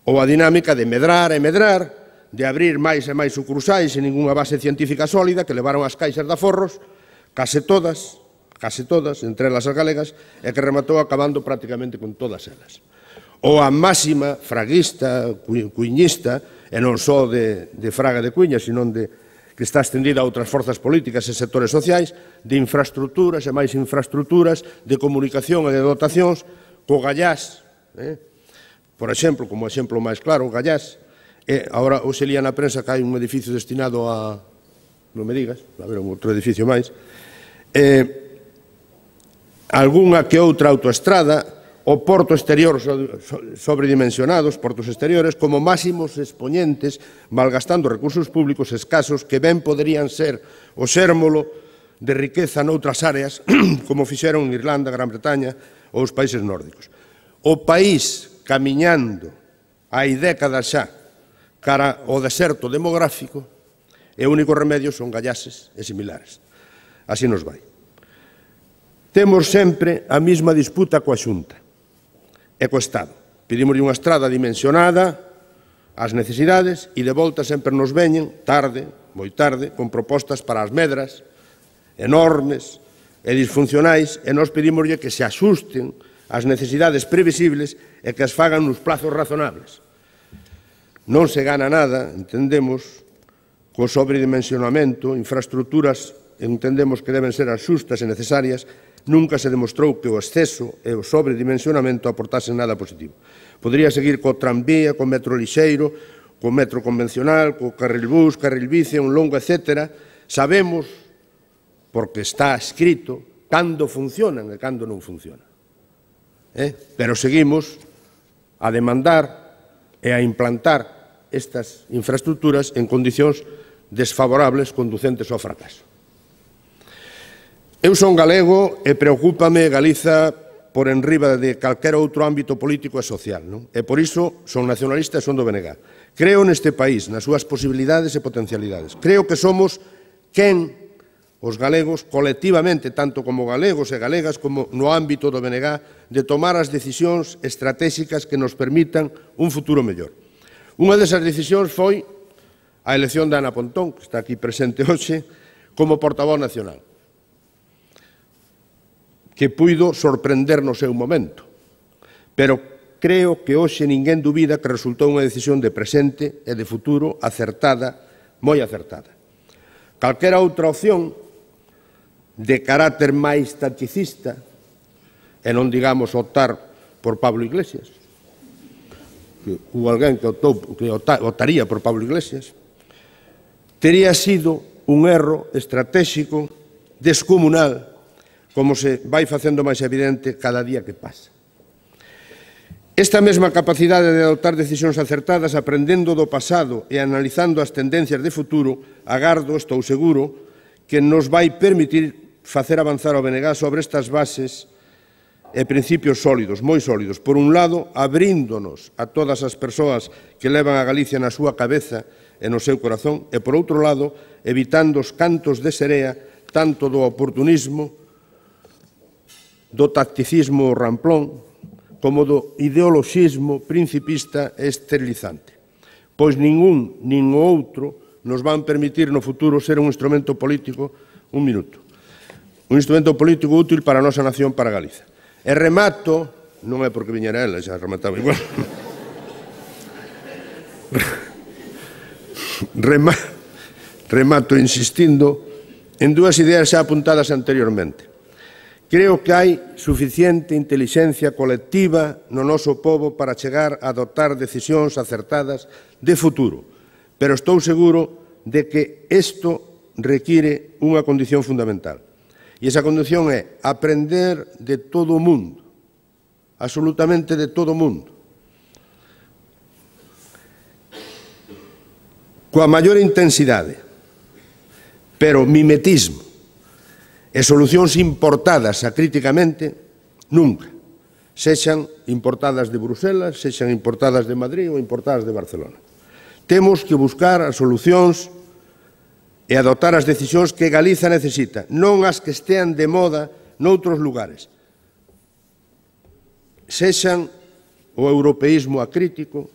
Ou a dinámica de medrar e medrar, de abrir máis e máis sucursais sen ningunha base científica sólida que levaron as caixas de aforros, case todas, case todas, entre elas as galegas, e que rematou acabando prácticamente con todas elas. Ou a máxima fraguista, cuiñista, e non só de, de Fraga de Cuiña, senón de que está extendida a outras forzas políticas e sectores sociais, de infraestructuras e máis infraestructuras, de comunicación e de dotacións, co Gallás, eh? por exemplo, como exemplo máis claro, o Gallás, e agora hoxe lía na prensa que hai un edificio destinado a, non me digas, a ver, un outro edificio máis, eh, algunha que outra autoestrada, o porto exterior sobredimensionados, portos exteriores, como máximos expoñentes, malgastando recursos públicos escasos que ben poderían ser o xérmolo de riqueza noutras áreas, como fixeron en Irlanda, Gran Bretaña ou os países nórdicos. O país camiñando hai décadas xa cara ao deserto demográfico e o único remedio son gallases e similares. Así nos vai. Temos sempre a mesma disputa coa Xunta e co Estado. Pedimoslle unha estrada dimensionada ás necesidades e de volta sempre nos veñen, tarde, moi tarde, con propostas para as medras enormes e disfuncionais, e nós pedimoslle que se axusten ás necesidades previsibles e que as fagan nos plazos razonables. Non se gana nada, entendemos, co sobredimensionamento, infraestructuras entendemos que deben ser as xustas e necesarias. Nunca se demostrou que o exceso e o sobredimensionamento aportasen nada positivo. Podría seguir co tranvía, co metro lixeiro, co metro convencional, co carril bus, carril bici, un longo, etcétera. Sabemos, porque está escrito, cando funcionan e cando non funcionan. Eh? Pero seguimos a demandar e a implantar estas infraestructuras en condicións desfavorables conducentes ao fracaso. Eu son galego e preocúpame Galiza por enriba de calquera outro ámbito político e social, non? E por iso son nacionalista e son do B N G. Creo neste país, nas súas posibilidades e potencialidades. Creo que somos quen, os galegos, colectivamente, tanto como galegos e galegas, como no ámbito do B N G, de tomar as decisións estratégicas que nos permitan un futuro mellor. Unha desas decisións foi a elección de Ana Pontón, que está aquí presente hoxe, como portavoz nacional, que puido sorprender no seu momento, pero creo que hoxe ninguén dubida que resultou unha decisión de presente e de futuro acertada, moi acertada. Calquera outra opción de carácter máis taticista, e non digamos optar por Pablo Iglesias, que hubo alguén que, optou, que votaría por Pablo Iglesias, tería sido un erro estratégico descomunal, como se vai facendo máis evidente cada día que pasa. Esta mesma capacidade de adoptar decisións acertadas, aprendendo do pasado e analizando as tendencias de futuro, agardo, estou seguro, que nos vai permitir facer avanzar o B N G sobre estas bases e principios sólidos, moi sólidos. Por un lado, abríndonos a todas as persoas que levan a Galicia na súa cabeza e no seu corazón, e, por outro lado, evitando os cantos de serea tanto do oportunismo, do tacticismo ramplón, como do ideoloxismo principista e esterilizante. Pois ningún, nin o outro, nos van permitir no futuro ser un instrumento político, un minuto, un instrumento político útil para a nosa nación, para Galiza. E remato, non é porque viñera ela, xa remataba igual, remato insistindo en dúas ideas xa apuntadas anteriormente. Creo que hai suficiente intelixencia colectiva no noso pobo para chegar a adoptar decisións acertadas de futuro, pero estou seguro de que isto require unha condición fundamental. E esa condición é aprender de todo o mundo, absolutamente de todo o mundo. Coa maior intensidade, pero mimetismo e solucións importadas acríticamente, nunca. Sexan importadas de Bruselas, sexan importadas de Madrid ou importadas de Barcelona. Temos que buscar as solucións e adoptar as decisións que Galiza necesita, non as que estean de moda noutros lugares. Sexan o europeísmo acrítico,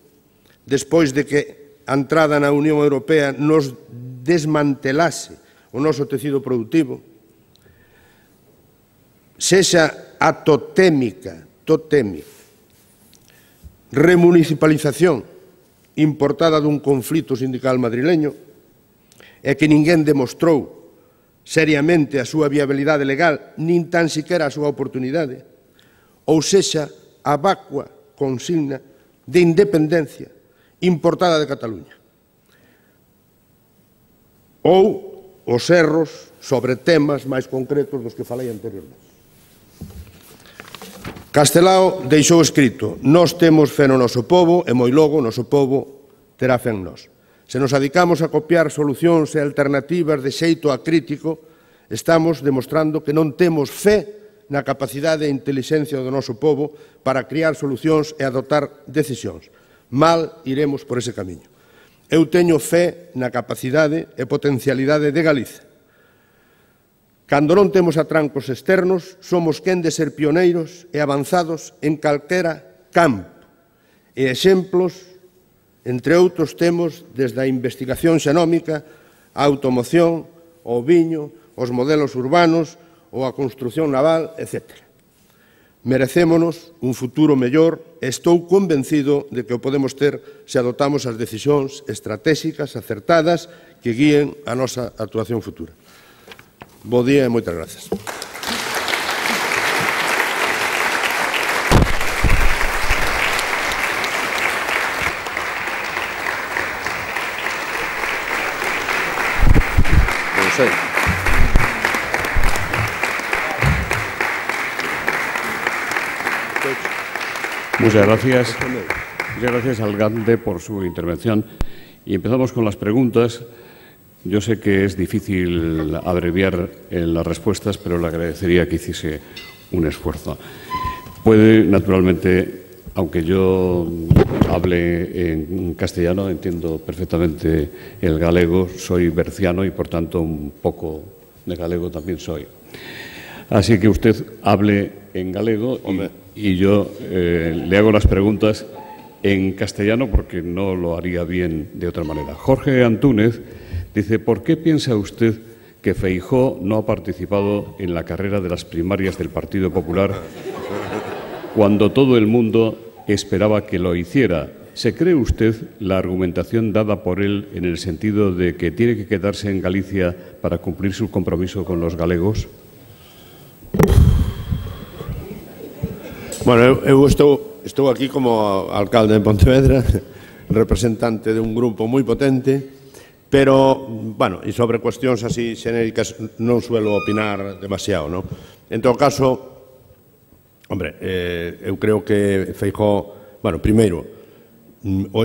despois de que a entrada na Unión Europea nos desmantelase o noso tecido productivo, sexa a totémica, totémica, remunicipalización importada dun conflito sindical madrileño e que ninguén demostrou seriamente a súa viabilidade legal, nin tan siquiera a súa oportunidade, ou sexa a vacua consigna de independencia importada de Cataluña. Ou os erros sobre temas máis concretos dos que falei anteriormente. Castelao deixou escrito: nós temos fe no noso pobo e moi logo o noso pobo terá fe en nós. Se nos adicamos a copiar solucións e alternativas de xeito acrítico, estamos demostrando que non temos fe na capacidade e intelixencia do noso pobo para criar solucións e adoptar decisións. Mal iremos por ese camiño. Eu teño fe na capacidade e potencialidade de Galiza. Cando non temos atrancos externos, somos quen de ser pioneiros e avanzados en calquera campo. E exemplos, entre outros, temos desde a investigación xenómica, a automoción, o viño, os modelos urbanos ou a construción naval, etcétera. Merecémonos un futuro mellor e estou convencido de que o podemos ter se adoptamos as decisións estratégicas acertadas que guíen a nosa actuación futura. Bo día e moitas grazas. Muchas gracias. Muchas gracias al alcalde por su intervención. Y empezamos con las preguntas. Yo sé que es difícil abreviar en las respuestas, pero le agradecería que hiciese un esfuerzo. Puede, naturalmente, aunque yo hable en castellano, entiendo perfectamente el galego, soy berciano y, por tanto, un poco de galego también soy. Así que usted hable en galego y, y yo eh, le hago las preguntas en castellano porque no lo haría bien de otra manera. Jorge Antúnez dice: ¿por qué piensa usted que Feijóo no ha participado en la carrera de las primarias del Partido Popular cuando todo el mundo esperaba que lo hiciera? ¿Se cree usted la argumentación dada por él en el sentido de que tiene que quedarse en Galicia para cumplir su compromiso con los galegos? Bueno, eu estou estou aquí como alcalde de Pontevedra, representante de un grupo moi potente, pero, bueno, e sobre cuestións así xenéricas non suelo opinar demasiado, non? En todo caso, hombre, eh, eu creo que Feijóo, bueno, primeiro,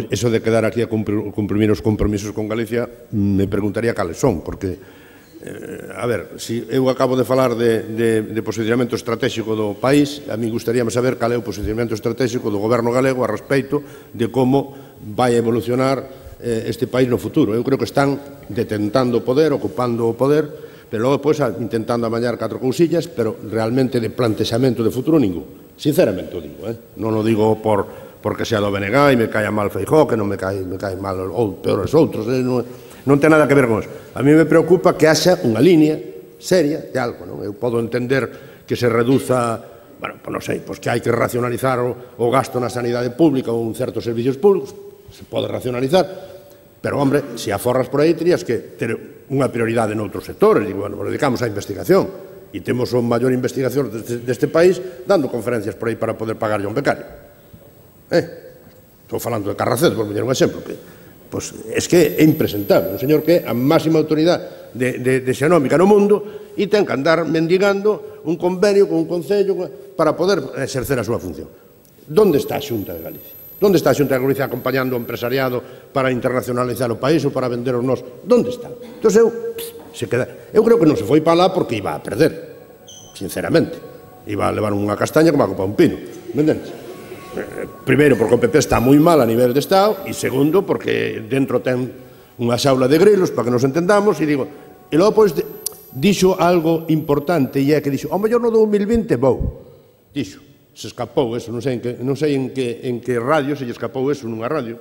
eso de quedar aquí a cumprir os compromisos con Galicia, me preguntaría cales son, porque Eh, a ver, si eu acabo de falar de, de, de posicionamento estratégico do país, a mí gustaríame saber cal é o posicionamento estratégico do goberno galego a respeito de como vai evolucionar eh, este país no futuro. Eu creo que están detentando o poder, ocupando o poder, pero logo depois intentando amañar catro cousillas, pero realmente de plantexamento de futuro ningún. Sinceramente o digo, eh? non o digo por, porque sea do B N G e me caia mal Feijóo, que non me cae, me cae mal ou peores outros, eh? non, non ten nada que ver con eso. A mí me preocupa que haxa unha línea seria de algo, non? Eu podo entender que se reduza, bueno, pues non sei, pues que hai que racionalizar o, o gasto na sanidade pública ou en certos servicios públicos, se pode racionalizar, pero, hombre, se aforras por aí, terías que ter unha prioridade noutros sectores, e, bueno, nos dedicamos á investigación, e temos o maior investigación deste, deste país dando conferencias por aí para poder pagarlle a un becario. Eh? Estou falando de Carracedo, por poñer un exemplo, que pois es que é impresentable, un señor que é a máxima autoridade de, de, de xenómica no mundo e ten que andar mendigando un convenio con un concello para poder exercer a súa función. Donde está a Xunta de Galicia? Donde está a Xunta de Galicia acompañando o empresariado para internacionalizar o país ou para vender os nos? Donde está? Entón eu, se queda, eu creo que non se foi para lá porque iba a perder, sinceramente. Iba a levar unha castaña como a copa un pino, me entendes? Primeiro, porque o P P está moi mal a nivel de Estado, e segundo, porque dentro ten unha xaula de grilos, para que nos entendamos, e digo, e logo, pois, dixo algo importante, e é que dixo, ao mellor no dos mil vinte vou, dixo, se escapou eso, non sei en que, non sei en que, en que radio se lle escapou eso nunha radio,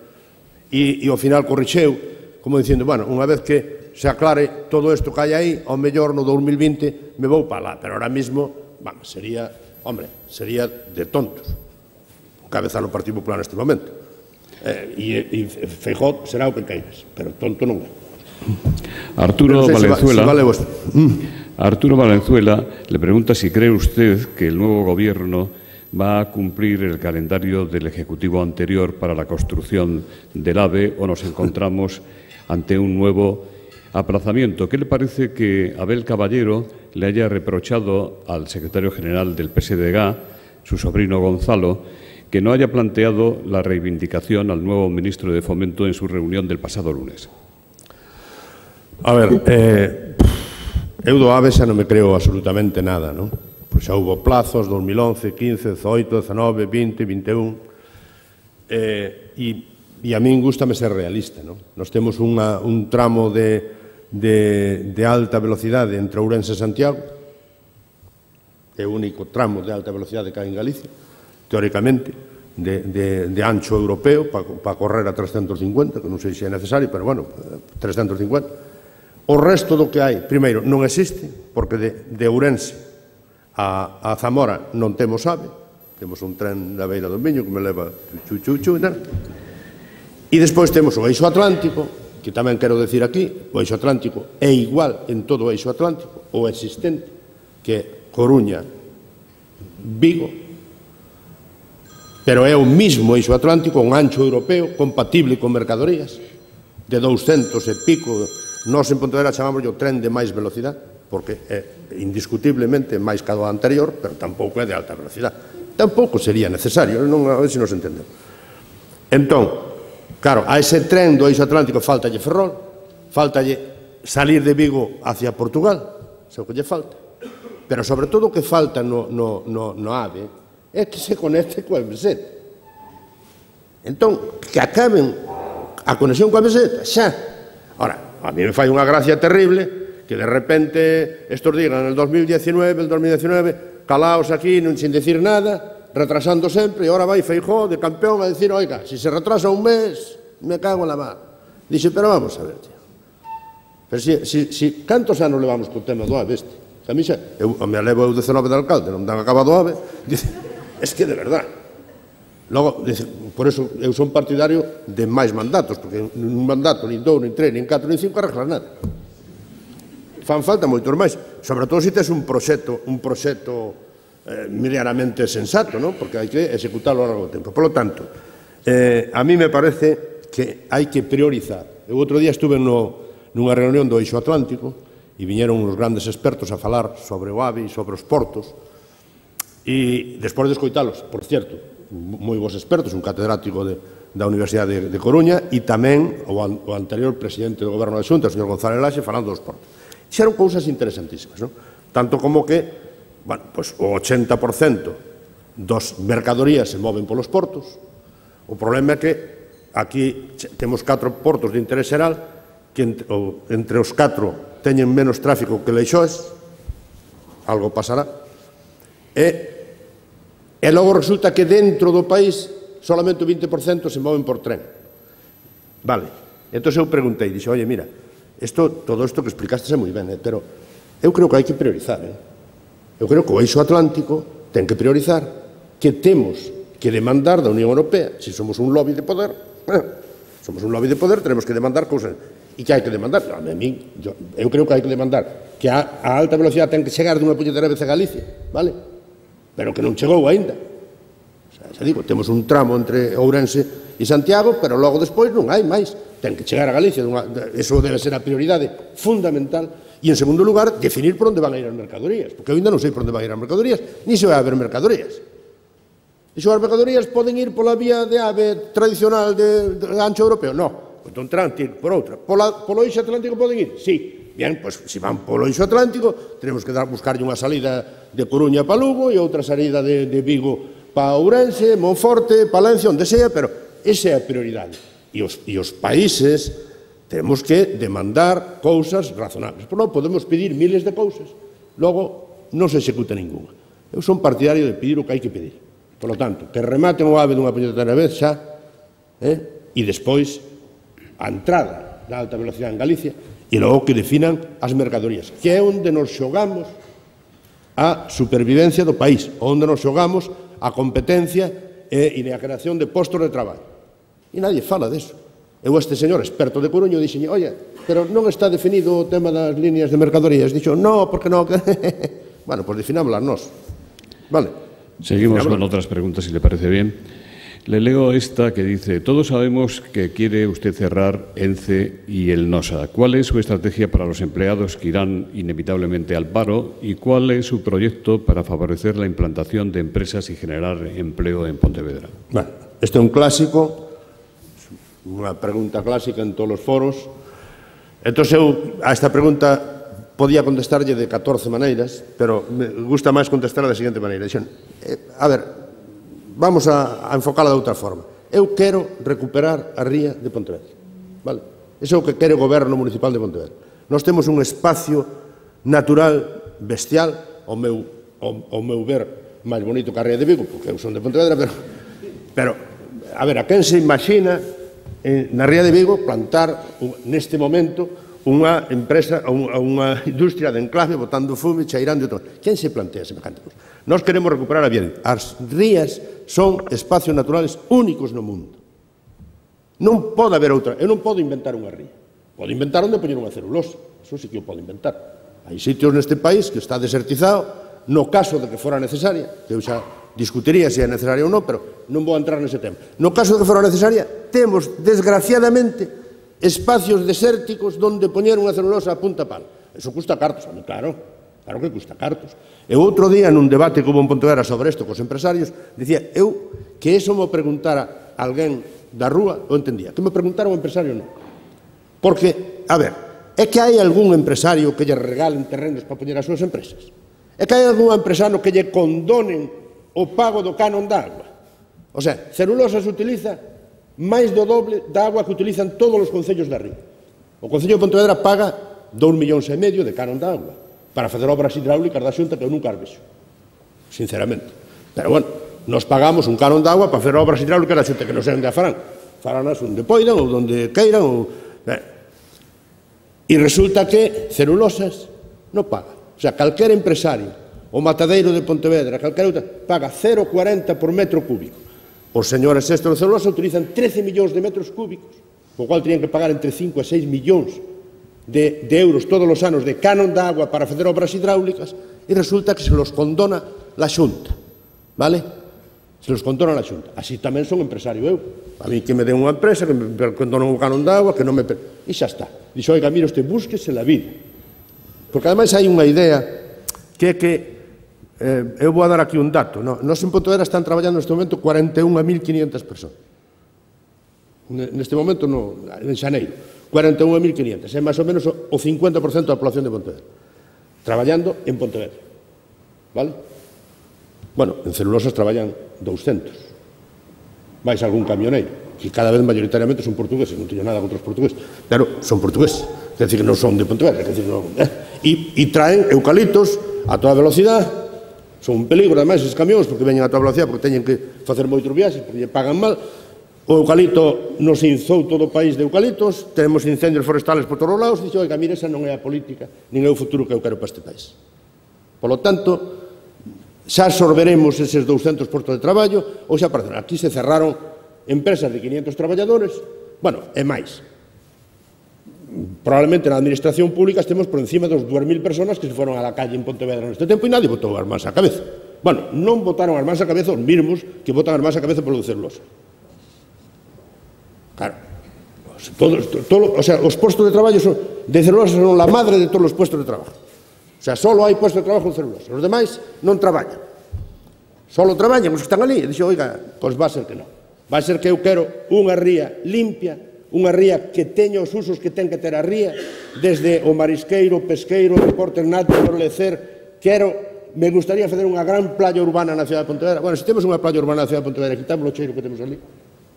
e, e ao final corrixeu, como dicindo, bueno, unha vez que se aclare todo isto que hai aí, ao mellor no dos mil vinte me vou para lá, pero ahora mismo, vamos, sería, hombre, sería de tontos cabeza no Partido Popular neste momento. Eh, e, e Feijóo será o que queiras, pero tonto non é. Arturo Valenzuela, si vale mm. Arturo Valenzuela le pregunta si cree usted que el nuevo gobierno va a cumplir el calendario del Ejecutivo anterior para la construcción del AVE o nos encontramos ante un nuevo aplazamiento. ¿Qué le parece que Abel Caballero le haya reprochado al secretario general del P S D G, su sobrino Gonzalo, que no haya planteado la reivindicación al nuevo ministro de Fomento en su reunión del pasado lunes? A ver, eh, eu do AVE xa non me creo absolutamente nada, non? Pois xa houve plazos, dos mil once, quince, dezoito, dezanove, vinte, vinte e un, eh, e, e a min gústame ser realista, non? Nos temos unha, un tramo de, de, de alta velocidade entre Ourense e Santiago, é o único tramo de alta velocidade que hai en Galicia, teóricamente, de, de, de ancho europeo para pa correr a trescentos cincuenta, que non sei se é necesario, pero, bueno, trescentos cincuenta. O resto do que hai, primeiro, non existe, porque de, de Ourense a, a Zamora non temos AVE, temos un tren da beira do Miño que me leva chu, chu, chu, e tal. E despois temos o eixo atlántico, que tamén quero decir aquí, o eixo atlántico é igual en todo o eixo atlántico, o existente, que é Coruña, Vigo, pero é o mismo eixo atlántico, un ancho europeo compatible con mercadorías de douscentos e pico. Nós en Pontevedra chamamos o tren de máis velocidade, porque é indiscutiblemente máis que o anterior, pero tampouco é de alta velocidade. Tampouco sería necesario, non, a ver se nos entendemos. Entón, claro, a ese tren do eixo atlántico faltalle Ferrol, faltalle salir de Vigo hacia Portugal, é o que lle falta. Pero sobre todo o que falta no, no, no, no AVE é que se conecte coa meseta. Entón, que acaben a conexión coa meseta, xa. Ora, a mí me fai unha gracia terrible que de repente estos digan en el dos mil diecinueve, el dos mil diecinueve, calaos aquí, non sin decir nada, retrasando sempre, e ahora vai Feijóo de campeón a decir, oiga, si se retrasa un mes, me cago en la mar. Dixe, pero vamos a ver, tío. Pero si, si, si cantos anos levamos co tema do AVE este? A mí xa, eu me levo eu dezenove de alcalde, non dan acabado o AVE, dice, es que de verdad. Logo, dice, por eso eu son partidario de máis mandatos, porque un mandato, nin dous, nin tres, nin catro, nin cinco, arreglas nada. Fan falta moitos máis, sobre todo se tes un proxecto, un proxecto eh, medianamente sensato, ¿no? Porque hai que executarlo a largo tempo. Por lo tanto, eh, a mí me parece que hai que priorizar. Eu outro día estuve no, nunha reunión do Eixo Atlántico e viñeron uns grandes expertos a falar sobre o AVE e sobre os portos e, despois de escoitalos, por certo, moi bons expertos, un catedrático de, da Universidade de, de Coruña e tamén o, an, o anterior presidente do Goberno da Xunta, o señor González Laxe, falando dos portos. Xeron cousas interesantísimas, non? Tanto como que, bueno, pues, o ochenta por cento dos mercadorías se moven polos portos. O problema é que aquí temos catro portos de interés xeral que entre, o, entre os catro teñen menos tráfico que Leixoes, algo pasará, e E logo resulta que dentro do país solamente o vinte por cento se moven por tren. Vale. Entón eu preguntei, dixo, oye, mira, esto, todo isto que explicaste é moi ben, eh, pero eu creo que hai que priorizar. Eh? Eu creo que o Eixo Atlántico ten que priorizar que temos que demandar da Unión Europea, se somos un lobby de poder, eh, somos un lobby de poder, tenemos que demandar cousas. E que hai que demandar? A mí, yo, eu creo que hai que demandar que a, a alta velocidade ten que chegar dunha puñetera vez a Galicia, vale? Pero que non chegou aínda. O sea, xa digo, temos un tramo entre Ourense e Santiago, pero logo despois non hai máis. Ten que chegar a Galicia, dunha, eso debe ser a prioridade fundamental. E, en segundo lugar, definir por onde van a ir as mercadorías, porque eu ainda non sei por onde van a ir as mercadorías, ni se vai a haber mercadorías. E se as mercadorías poden ir pola vía de ave tradicional de, de ancho europeo? No. Entón, terán que ir por outra. Pola, polo Eixo Atlántico poden ir? Sí. Bien, pois, se van polo Eixo Atlántico, tenemos que dar, buscarlle unha salida de Coruña para Lugo e outra salida de, de Vigo para Ourense, Monforte, Palencia, onde sea, pero esa é a prioridade. E os, e os países temos que demandar cousas razonables. Pero non podemos pedir miles de cousas, logo non se executa ninguna. Eu son partidario de pedir o que hai que pedir. Por lo tanto, que rematen o AVE dunha puñetera vez xa, eh? E despois a entrada da alta velocidade en Galicia, e logo que definan as mercadorías, que é onde nos xogamos a supervivencia do país, onde nos xogamos a competencia e a creación de postos de traballo. E nadie fala deso. Eu este señor experto de Coruño dixen, oye, pero non está definido o tema das líneas de mercadorías. Dixo, no, porque non. Bueno, pues definámoslas nós. Vale. Seguimos con otras preguntas, si le parece bien. Le leo esta que dice, todos sabemos que quiere usted cerrar ENCE y el NOSA. ¿Cuál es su estrategia para los empleados que irán inevitablemente al paro y cuál es su proyecto para favorecer la implantación de empresas y generar empleo en Pontevedra? Bueno, este é un clásico, unha pregunta clásica en todos os foros. Entón, eu a esta pregunta podía contestarlle de catorce maneiras, pero me gusta máis contestar da seguinte maneira. Dixen, eh, a ver, vamos a, a enfocala de outra forma. Eu quero recuperar a ría de Pontevedra. Vale? Iso é o que quere o Goberno Municipal de Pontevedra. Nós temos un espacio natural bestial, ao meu, ao, ao meu ver, máis bonito que a ría de Vigo, porque eu son de Pontevedra, pero, pero a ver, a quen se imagina eh, na ría de Vigo plantar neste momento unha empresa, unha industria de enclave botando fume, cheirando e todo. Quen se plantea semejante cousa? Nós queremos recuperar a vida. As rías son espacios naturales únicos no mundo. Non pode haber outra. Eu non podo inventar unha ría. Podo inventar onde poñer unha celulosa. Eso sí que eu podo inventar. Hai sitios neste país que está desertizado, no caso de que fora necesaria, que eu xa discutiría se é necesaria ou non, pero non vou entrar nese tema. No caso de que fora necesaria, temos, desgraciadamente, espacios desérticos donde poñer unha celulosa a punta pala. Eso custa cartos, a mí, claro, claro que custa cartos. E outro día, nun debate que hubo en Pontevedra sobre isto cos empresarios, dicía, eu, que eso me preguntara alguén da rúa, eu entendía. Que me preguntara un empresario, non. Porque, a ver, é que hai algún empresario que lle regalen terrenos para poñer as súas empresas? É que hai algún empresario que lle condonen o pago do canon da agua? O sea, celulosa se utiliza máis do doble da agua que utilizan todos os concellos da ría. O Concello de Pontevedra paga dous millóns e medio de canon da agua para facer obras hidráulicas da Xunta que eu nunca as vexo, sinceramente. Pero, bueno, nos pagamos un canon da agua para facer obras hidráulicas da Xunta que non sei onde a farán. Faranas onde poidan ou onde queiran. Ou... E resulta que celulosas non paga. O sea, calquer empresario, o matadeiro de Pontevedra, calquer outra, paga cero coma cuarenta por metro cúbico. Os señores estos de celulosa utilizan trece millóns de metros cúbicos, o cual tenían que pagar entre cinco e seis millóns de, de euros todos os anos de canon de agua para facer obras hidráulicas, e resulta que se los condona la Xunta, vale? Se los controla a Xunta. Así tamén son empresario eu. A mí que me den unha empresa, que me condonan un canon de agua, que non me... E xa está. Dixo, oiga, mira, usted búsquese la vida. Porque ademais hai unha idea que é que, eh, eu vou a dar aquí un dato, no? Nos en Pontevedra están traballando neste momento cuarenta e unha mil quinientas persoas. Neste momento, no, en xaneiro, cuarenta e unha mil quinientas, é máis ou menos o cincuenta por cento da población de Pontevedra, traballando en Pontevedra, vale? Bueno, en celulosas traballan douscentos, máis algún camioneiro, que cada vez mayoritariamente son portugueses, non teño nada contra os portugueses, pero son portugueses, quer dizer que non son de Pontevedra, quer dizer, non, eh? e, e traen eucaliptos a toda velocidade, son un peligro, ademais, esses camións, porque veñen a toda velocidade, porque teñen que facer moitos viaxes, porque lle pagan mal. O eucalipto nos inzou todo o país de eucaliptos, tenemos incendios forestales por todos os lados, e dixo, oiga, mire, esa non é a política, nin é o futuro que eu quero para este país. Por lo tanto, xa absorberemos eses douscentos postos de traballo, ou xa apareceron. Aquí se cerraron empresas de quinientos traballadores, bueno, e máis. Probablemente na administración pública estemos por encima dos dúas mil personas que se foron a la calle en Pontevedra neste tempo e nadie botou as mans á cabeza. Bueno, non botaron as mans á cabeza os mismos que botan as mans á cabeza polo de celulosa. Claro, todos, todo, o sea, os postos de traballo son, de celulosa son la madre de todos os postos de trabajo. O sea, solo hai postos de trabajo en celulosa. Os demais non traballan. Solo traballan os que están ali. E dixo, oiga, pois va a ser que non. Va a ser que eu quero unha ría limpia, unha ría que teña os usos que ten que ter a ría, desde o marisqueiro, o pesqueiro, o deporte náutico, o lecer. Quero, me gustaría facer unha gran playa urbana na cidade de Pontevedra. Bueno, se temos unha playa urbana na cidade de Pontevedra, quitamos o cheiro que temos ali,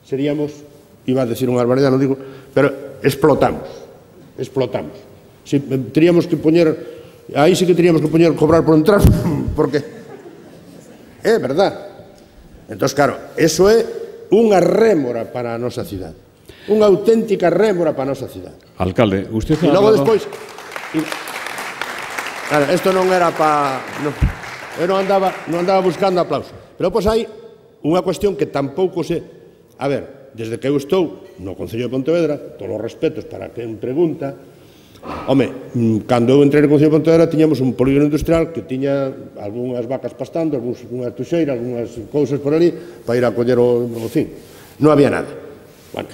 seríamos... iba a decir unha barbaridade, non digo, pero explotamos, explotamos. Si teríamos que poñer, aí sí que teríamos que poñer, cobrar por entrar, porque é verdad. Entón, claro, eso é unha rémora para a nosa cidade, unha auténtica rémora para a nosa cidade. Alcalde, usted ha E logo hablado... despois, y, claro, isto non era para, no, eu non andaba, non andaba buscando aplauso, pero pois hai unha cuestión que tampouco se, a ver, desde que eu estou no Concello de Pontevedra, todos os respetos para quen pregunta, home, cando eu entrei no Concello de Pontevedra tiñamos un polígono industrial que tiña algunhas vacas pastando, algunhas tuxeiras, algunhas cousas por ali, para ir a coller o, o fin. Non había nada. Bueno,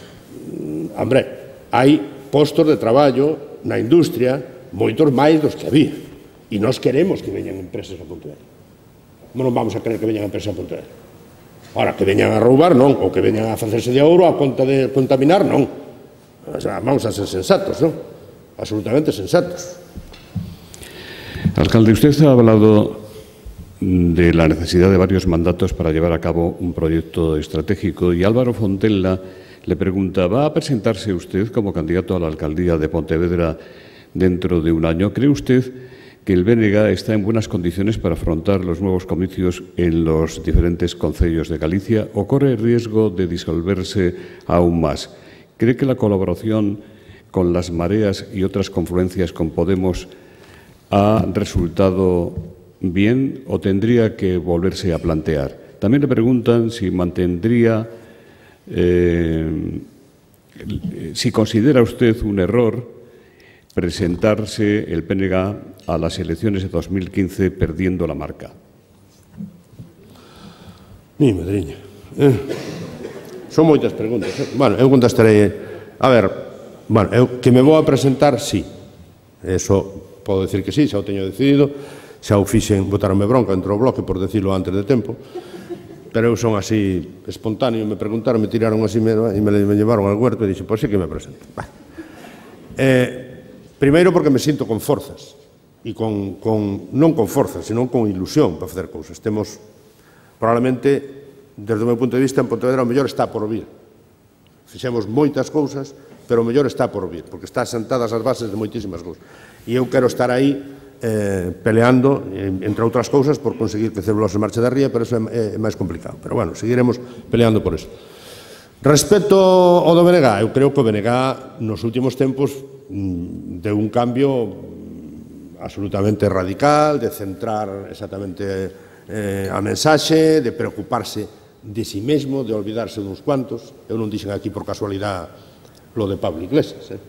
hombre, hai postos de traballo na industria moitos máis dos que había. E nós queremos que veñan empresas a Pontevedra. Non vamos a querer que veñan empresas a Pontevedra. Ora, que veñan a roubar, non, ou que veñan a facerse de ouro a conta de contaminar, non. O sea, vamos a ser sensatos, non? Absolutamente sensatos. Alcalde, usted ha hablado de la necesidad de varios mandatos para llevar a cabo un proyecto estratégico y Álvaro Fontella le pregunta, ¿va a presentarse usted como candidato a la alcaldía de Pontevedra dentro de un año? ¿Cree usted que el B N G está en buenas condiciones para afrontar los nuevos comicios en los diferentes concellos de Galicia o corre el riesgo de disolverse aún más? ¿Cree que la colaboración con las mareas y otras confluencias con Podemos ha resultado bien o tendría que volverse a plantear? También le preguntan si mantendría, eh, si considera usted un error presentarse el P N G a las elecciones de dos mil quince perdiendo la marca. Mi madriña. Eh, son moitas preguntas. Eh. Bueno, eu contestarei. A ver, bueno, eu que me vou a presentar, sí. Eso podo decir que sí, xa o teño decidido. Xa o fixen, botaronme bronca entre o bloque por decirlo antes de tempo. Pero eu son así espontáneo, me preguntaron, me tiraron así me, e me, me llevaron al huerto e dixen, pois sí que me presento. Bah. Eh, primeiro porque me sinto con forzas. E con, con, non con forzas, senón con ilusión para facer cousas. Temos, probablemente, desde o meu punto de vista, en Pontevedra o mellor está por vir. Fixemos moitas cousas, pero o mellor está por vir, porque está sentadas as bases de moitísimas cousas. E eu quero estar aí eh, peleando, entre outras cousas, por conseguir que Celulosa marche da ría, pero eso é, é máis complicado. Pero, bueno, seguiremos peleando por eso. Respecto ao do B N G, eu creo que o B N G nos últimos tempos deu un cambio absolutamente radical, de centrar exactamente eh, a mensaxe, de preocuparse de si mesmo, de olvidarse duns cuantos. Eu non dixen aquí por casualidade lo de Pablo Iglesias, eh?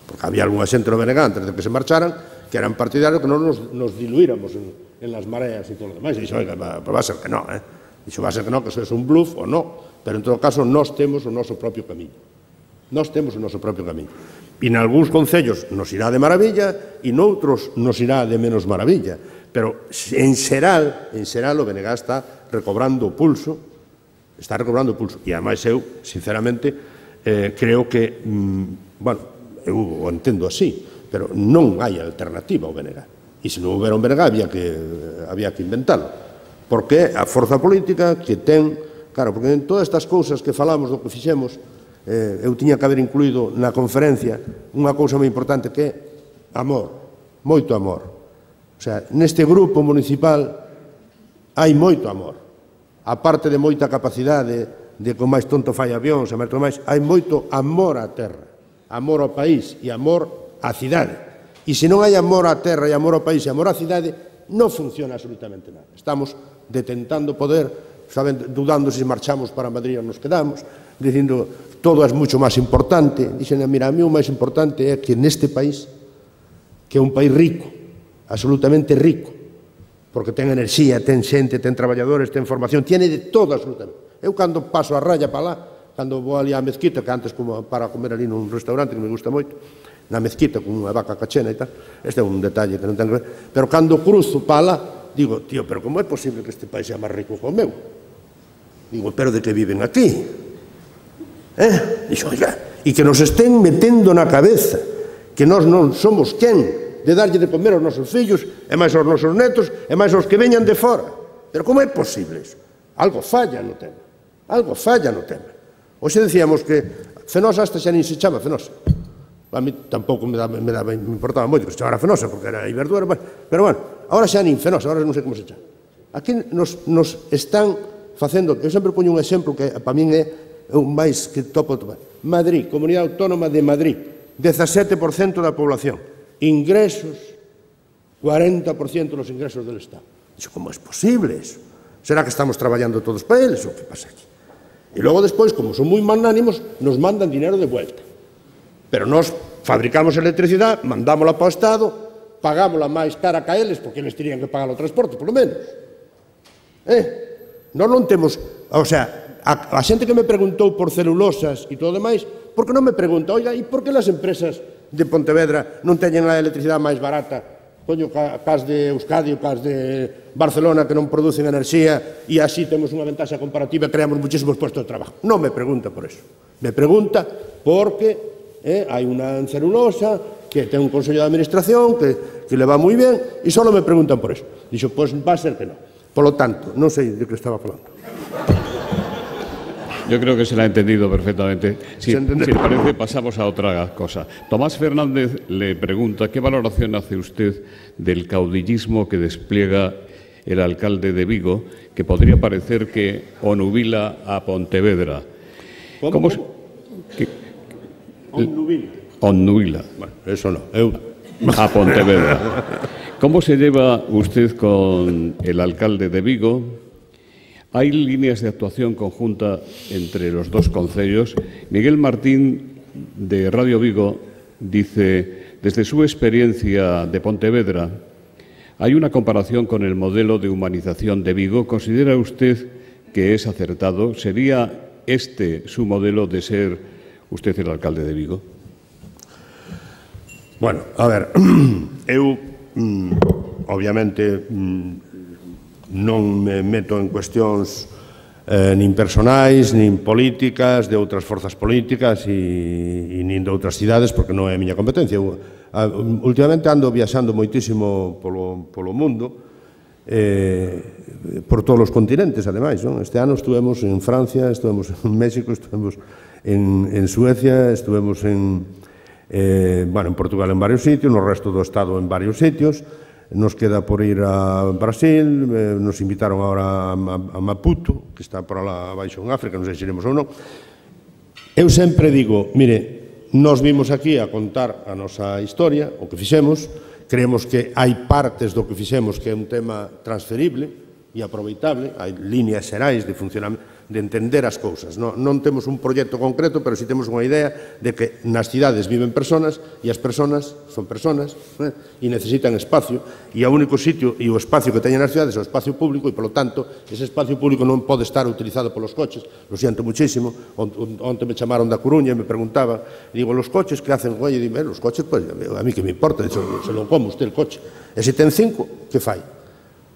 Porque había algunha xente no B N G antes de que se marcharan que eran partidarios que non nos, nos diluíramos en, en las mareas e todo lo demás. E dixo, oiga, va, va a ser que non, eh? Dixo, va a ser que non, que eso é un bluff ou non, pero en todo caso nós temos o noso propio camiño. Nós temos o noso propio camiño. E en algúns concellos nos irá de maravilla e noutros nos irá de menos maravilla. Pero en xeral, en xeral o B N G está recobrando o pulso, está recobrando o pulso. E ademais eu, sinceramente, eh, creo que, mm, bueno, eu o entendo así, pero non hai alternativa ao B N G. E se non houbera un B N G había que, había que inventalo. Porque a forza política que ten, claro, porque en todas estas cousas que falamos do que fixemos, eh, eu tiña que haber incluído na conferencia unha cousa moi importante que é amor, moito amor. O sea, neste grupo municipal hai moito amor. A parte de moita capacidade de con máis tonto fai avións e máis todo máis, hai moito amor á terra, amor ao país e amor á cidade. E se non hai amor á terra e amor ao país e amor á cidade, non funciona absolutamente nada. Estamos detentando poder, saben, dudando se marchamos para Madrid ou nos quedamos, dicindo todo é moito máis importante. Dixen, mira, a mí o máis importante é que neste país, que é un país rico, absolutamente rico, porque ten enerxía, ten xente, ten traballadores, ten formación, tiene de todo absolutamente. Eu cando paso a raya para lá, cando vou ali á mezquita, que antes como para comer ali nun restaurante que me gusta moito, na mezquita con unha vaca cachena e tal, este é un detalle que non ten que ver, pero cando cruzo para lá, digo, tío, pero como é posible que este país sea máis rico que o meu? Digo, pero de que viven aquí? Eh? Dixo, oiga, e que nos estén metendo na cabeza que nós non somos quen de darlle de comer aos nosos fillos, e máis aos nosos netos, e máis aos que veñan de fora. Pero como é posible iso? Algo falla no tema. Algo falla no tema. Hoxe decíamos que Fenosa hasta xa nin se chama Fenosa. A mí tampouco me, daba, me, daba, me importaba moito que se chamara Fenosa, porque era Iberdura, pero bueno, agora xa nin Fenosa, agora non sei como se chama. Aquí nos, nos están facendo, eu sempre poño un exemplo que para min é o máis que topo tomar. Madrid, Comunidade Autónoma de Madrid, dezasete por cento da población. Ingresos, cuarenta por ciento dos ingresos del Estado. Dixo, como é posible eso? Será que estamos traballando todos para eles ou que pasa aquí? E logo despois, como son moi magnánimos, nos mandan dinero de vuelta. Pero nós fabricamos electricidade, mandámola para o Estado, pagámola máis cara que a eles, porque eles terían que pagar o transporte, polo menos. Eh? Nós non temos... O sea, a, a xente que me preguntou por celulosas e todo demais, por que non me pregunta, oiga, e por que as empresas de Pontevedra non teñen a electricidade máis barata, coño, cas de Euskadi ou cas de Barcelona que non producen enerxía e así temos unha ventaxa comparativa e creamos muchísimos puestos de trabajo? Non me pregunta por eso. Me pregunta porque eh, hai unha celulosa que ten un consello de administración que, que le va moi ben e só me preguntan por eso. Dixo, pois va a ser que non. Por lo tanto, non sei de que estaba falando. Yo creo que se la ha entendido perfectamente. Si, si le parece, pasamos a otra cosa. Tomás Fernández le pregunta qué valoración hace usted del caudillismo que despliega el alcalde de Vigo, que podría parecer que onubila a Pontevedra. ¿Cómo? ¿Cómo se, que, Onnubila. Onnubila. Bueno, eso no. Eu... A Pontevedra. ¿Cómo se lleva usted con el alcalde de Vigo? ¿Hay líneas de actuación conjunta entre los dos concellos? Miguel Martín, de Radio Vigo, dice, desde su experiencia de Pontevedra, ¿hay una comparación con el modelo de humanización de Vigo? ¿Considera usted que es acertado? ¿Sería este su modelo de ser usted el alcalde de Vigo? Bueno, a ver, eu, obviamente, non me meto en cuestións eh, nin personais, nin políticas, de outras forzas políticas e, e nin de outras cidades, porque non é a miña competencia. Eu, a, últimamente ando viaxando moitísimo polo, polo mundo, eh, por todos os continentes, ademais. Non? Este ano estuvemos en Francia, estuvemos en México, estuvemos en, en Suecia, estuvemos en, eh, bueno, en Portugal en varios sitios, no resto do Estado en varios sitios. Nos queda por ir a Brasil, eh, nos invitaron ahora a, a, a Maputo, que está por lá abaixo en África, non sei se iremos ou non. Eu sempre digo, mire, nos vimos aquí a contar a nosa historia, o que fixemos, creemos que hai partes do que fixemos que é un tema transferible e aproveitable, hai líneas xerais de funcionamento, de entender as cousas. Non, non temos un proxecto concreto, pero si temos unha idea de que nas cidades viven personas e as personas son personas eh, e necesitan espacio, e o único sitio e o espacio que teñen nas cidades é o espacio público, e, polo tanto, ese espacio público non pode estar utilizado polos coches. Lo siento muchísimo. Onte me chamaron da Coruña e me preguntaba, e digo, los coches que hacen? Oye, dime, los coches, pues, a mí que me importa, se lo como usted el coche. E se ten cinco, que fai?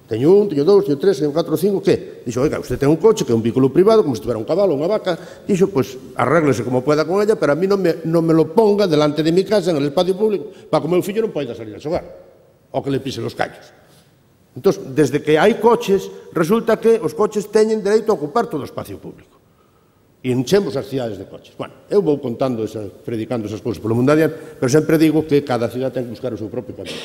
Teño un, teño dous, teño tres, teño catro, cinco, que? Dixo, oiga, usted ten un coche que é un vehículo privado, como se tuviera un cabalo, unha vaca. Dixo, pues, arréglese como pueda con ella, pero a mí non me, non me lo ponga delante de mi casa, en el espacio público, para que o meu fillo non poida salir a xogar, ou que le pise los callos. Entón, desde que hai coches, resulta que os coches teñen dereito a ocupar todo o espacio público. E enchemos as cidades de coches. Bueno, eu vou contando, esa, predicando esas cousas polo mundo adiante, pero sempre digo que cada cidade ten que buscar o seu propio camino.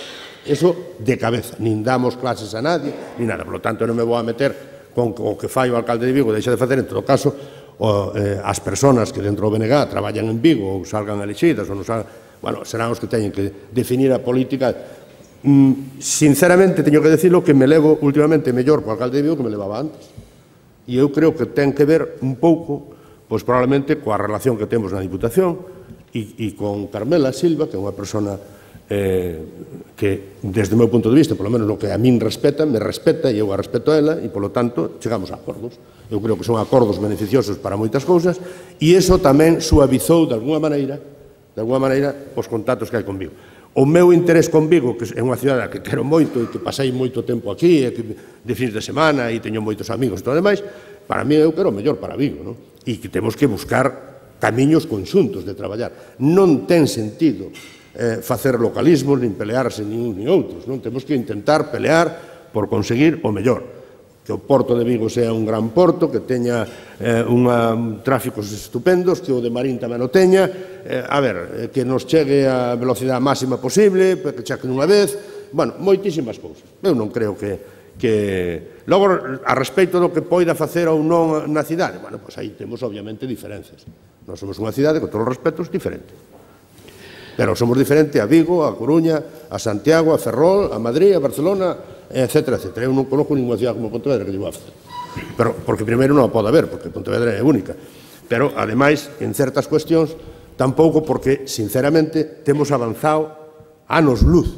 Eso de cabeza, nin damos clases a nadie, nin nada. Por lo tanto, non me vou a meter con o que fai o alcalde de Vigo, deixa de facer, en todo caso, o, eh, as persoas que dentro do B N G traballan en Vigo ou salgan elixidas, ou non salgan, bueno, serán os que teñen que definir a política. Mm, sinceramente, teño que decirlo que me levo últimamente mellor co alcalde de Vigo que me levaba antes. E eu creo que ten que ver un pouco, pois probablemente coa relación que temos na Diputación e, e con Carmela Silva, que é unha persona eh, que, desde o meu punto de vista, polo menos no que a min respeta, me respeta e eu a respeto a ela, e, polo tanto, chegamos a acordos. Eu creo que son acordos beneficiosos para moitas cousas, e iso tamén suavizou, de alguna maneira, de alguna maneira, os contactos que hai con Vigo. O meu interés con Vigo, que é unha cidade que quero moito e que pasei moito tempo aquí, e que de fins de semana, e teño moitos amigos e todo demais, para mí eu quero o mellor para Vigo, non? E que temos que buscar camiños conxuntos de traballar. Non ten sentido eh, facer localismos, nin pelearse nin un nin outros, non? Temos que intentar pelear por conseguir o mellor. Que o Porto de Vigo sea un gran porto, que teña eh, unha, un tráficos estupendos, que o de Marín tamén o teña, eh, a ver, eh, que nos chegue a velocidade máxima posible, que cheque nunha vez, bueno, moitísimas cousas. Eu non creo que que logo a respecto do que poida facer ou non na cidade, bueno, pois aí temos obviamente diferencias. Nós somos unha cidade, con todos os respetos, diferente. Pero somos diferente a Vigo, a Coruña, a Santiago, a Ferrol, a Madrid, a Barcelona, etcétera, etcétera. Eu non conozco ninguna cidade como Pontevedra que llevo a facer. Pero, porque primeiro non a pode haber, porque Pontevedra é única. Pero, ademais, en certas cuestións, tampouco porque, sinceramente, temos avanzado anos luz,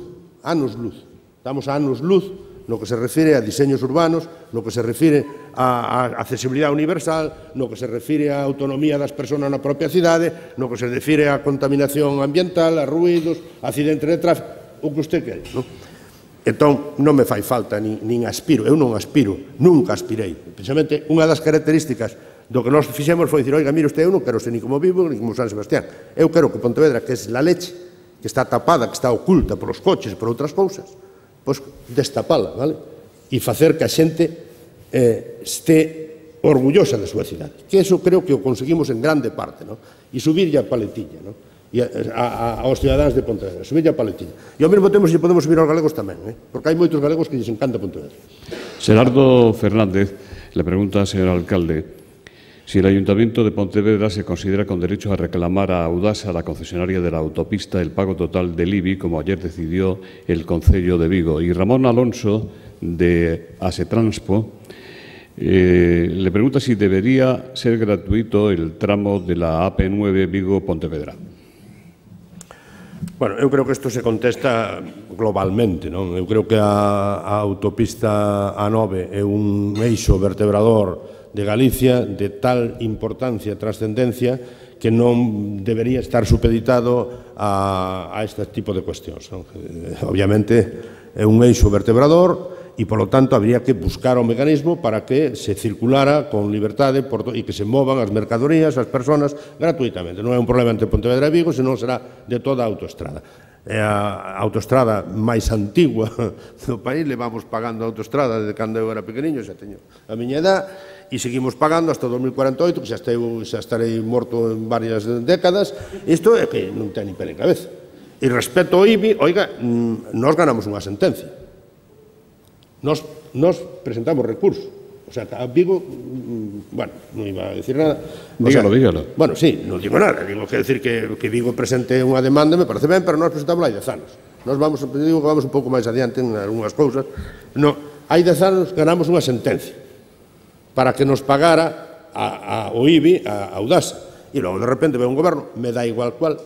anos luz. Estamos a anos luz no que se refire a diseños urbanos, no que se refire a, a accesibilidade universal, no que se refire a autonomía das persoas na propia cidade, no que se refire a contaminación ambiental, a ruídos, a accidentes de tráfico, o que usted quere, non? Entón, non me fai falta, nin, nin aspiro, eu non aspiro, nunca aspirei. Precisamente, unha das características do que nós fixemos foi dicir, oiga, mire usted, eu non quero ser ni como Vigo, ni como San Sebastián. Eu quero que Pontevedra, que é la leche, que está tapada, que está oculta polos coches e por outras cousas, pois destapala, vale? E facer que a xente eh, este orgullosa da súa cidade. Que eso creo que o conseguimos en grande parte, non? E subirlle a paletilla, non? E a, a, aos cidadáns de Pontevedra, subirlle a paletilla. E ao mesmo tempo se podemos subir aos galegos tamén, eh? Porque hai moitos galegos que lles encanta Pontevedra. Gerardo Fernández le pregunta al señor alcalde si el Ayuntamiento de Pontevedra se considera con derecho a reclamar a Audasa, la concesionaria de la autopista, el pago total del I B I, como ayer decidió el Concello de Vigo. Y Ramón Alonso, de Asetranspo, eh, le pregunta si debería ser gratuito el tramo de la A P nueve Vigo-Pontevedra. Bueno, eu creo que isto se contesta globalmente, non? Eu creo que a, a autopista A nove é un eixo vertebrador de Galicia de tal importancia e trascendencia que non debería estar supeditado a, a este tipo de cuestións, non? Obviamente é un eixo vertebrador e, polo tanto, habría que buscar o mecanismo para que se circulara con liberdade por e que se movan as mercadorías, as persoas, gratuitamente. Non é un problema entre Pontevedra e Vigo, senón será de toda a autoestrada. É a autoestrada máis antigua do país, levamos pagando a autoestrada desde cando eu era pequeniño, xa teño a miña edad, e seguimos pagando hasta o dos mil cuarenta e oito, que xa, estei, xa estarei morto en varias décadas. Isto é que non ten ni pé ni cabeza. E respecto ao I B I, oiga, nós ganamos unha sentencia. Nos, nos presentamos recurso. O sea, a Vigo, bueno, non iba a decir nada. O dígalo, sea, dígalo. Bueno, sí, non digo nada. Digo que decir que, que Vigo presente unha demanda me parece ben, pero nós presentamos hai dez anos. Nós vamos, digo que vamos un pouco máis adiante en algunhas cousas. No, hai dez anos ganamos unha sentencia para que nos pagara a, a, o I B I a, a Audasa. E logo de repente ve un goberno, me dá igual cual,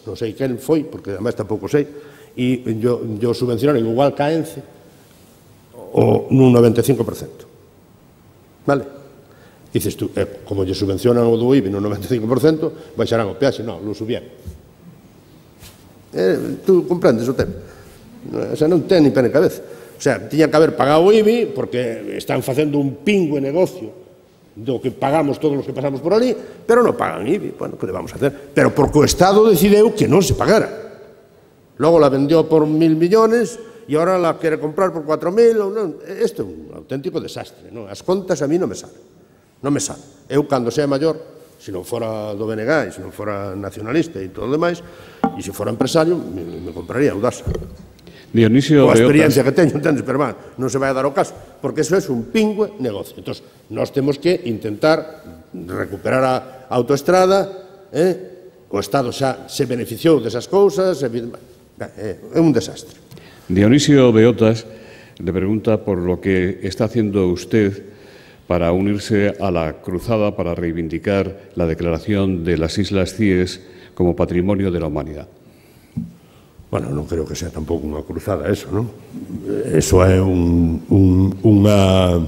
non sei quen foi, porque además tampouco sei, e yo, yo subvencionaron igual que a ENCE o nun noventa e cinco por cento. Vale? Dices tú, eh, como lle subvencionan o do I B I no noventa e cinco por cento, baixarán o peaxe, non, lo subían. Eh, tú comprendes o tema. O sea, non ten ni pena en cabeza. O sea, tiña que haber pagado o I B I porque están facendo un pingüe negocio do que pagamos todos os que pasamos por ali, pero non pagan I B I. Bueno, que le vamos a hacer? Pero porque o Estado decideu que non se pagara. Logo la vendió por mil millones e ahora la quere comprar por cuatro mil. Isto é un auténtico desastre. Non? As contas a mí non me salen. Non me salen. Eu, cando sea maior, se non fora do B N G, e se non fora nacionalista e todo o demais, e se fora empresario, me, me compraría Audasa. Dionisio Coa experiencia Beotas. que teño, entendes, pero man, non se vai a dar o caso, porque eso é un pingüe negocio. Entón, nós temos que intentar recuperar a autoestrada, eh? O Estado xa se beneficiou desas cousas, é un desastre. Dionisio Beotas le pregunta por lo que está haciendo usted para unirse a la cruzada para reivindicar la declaración de las Islas Cíes como Patrimonio de la Humanidad. Bueno, non creo que sea tampouco unha cruzada eso, non? Eso é un, un, unha,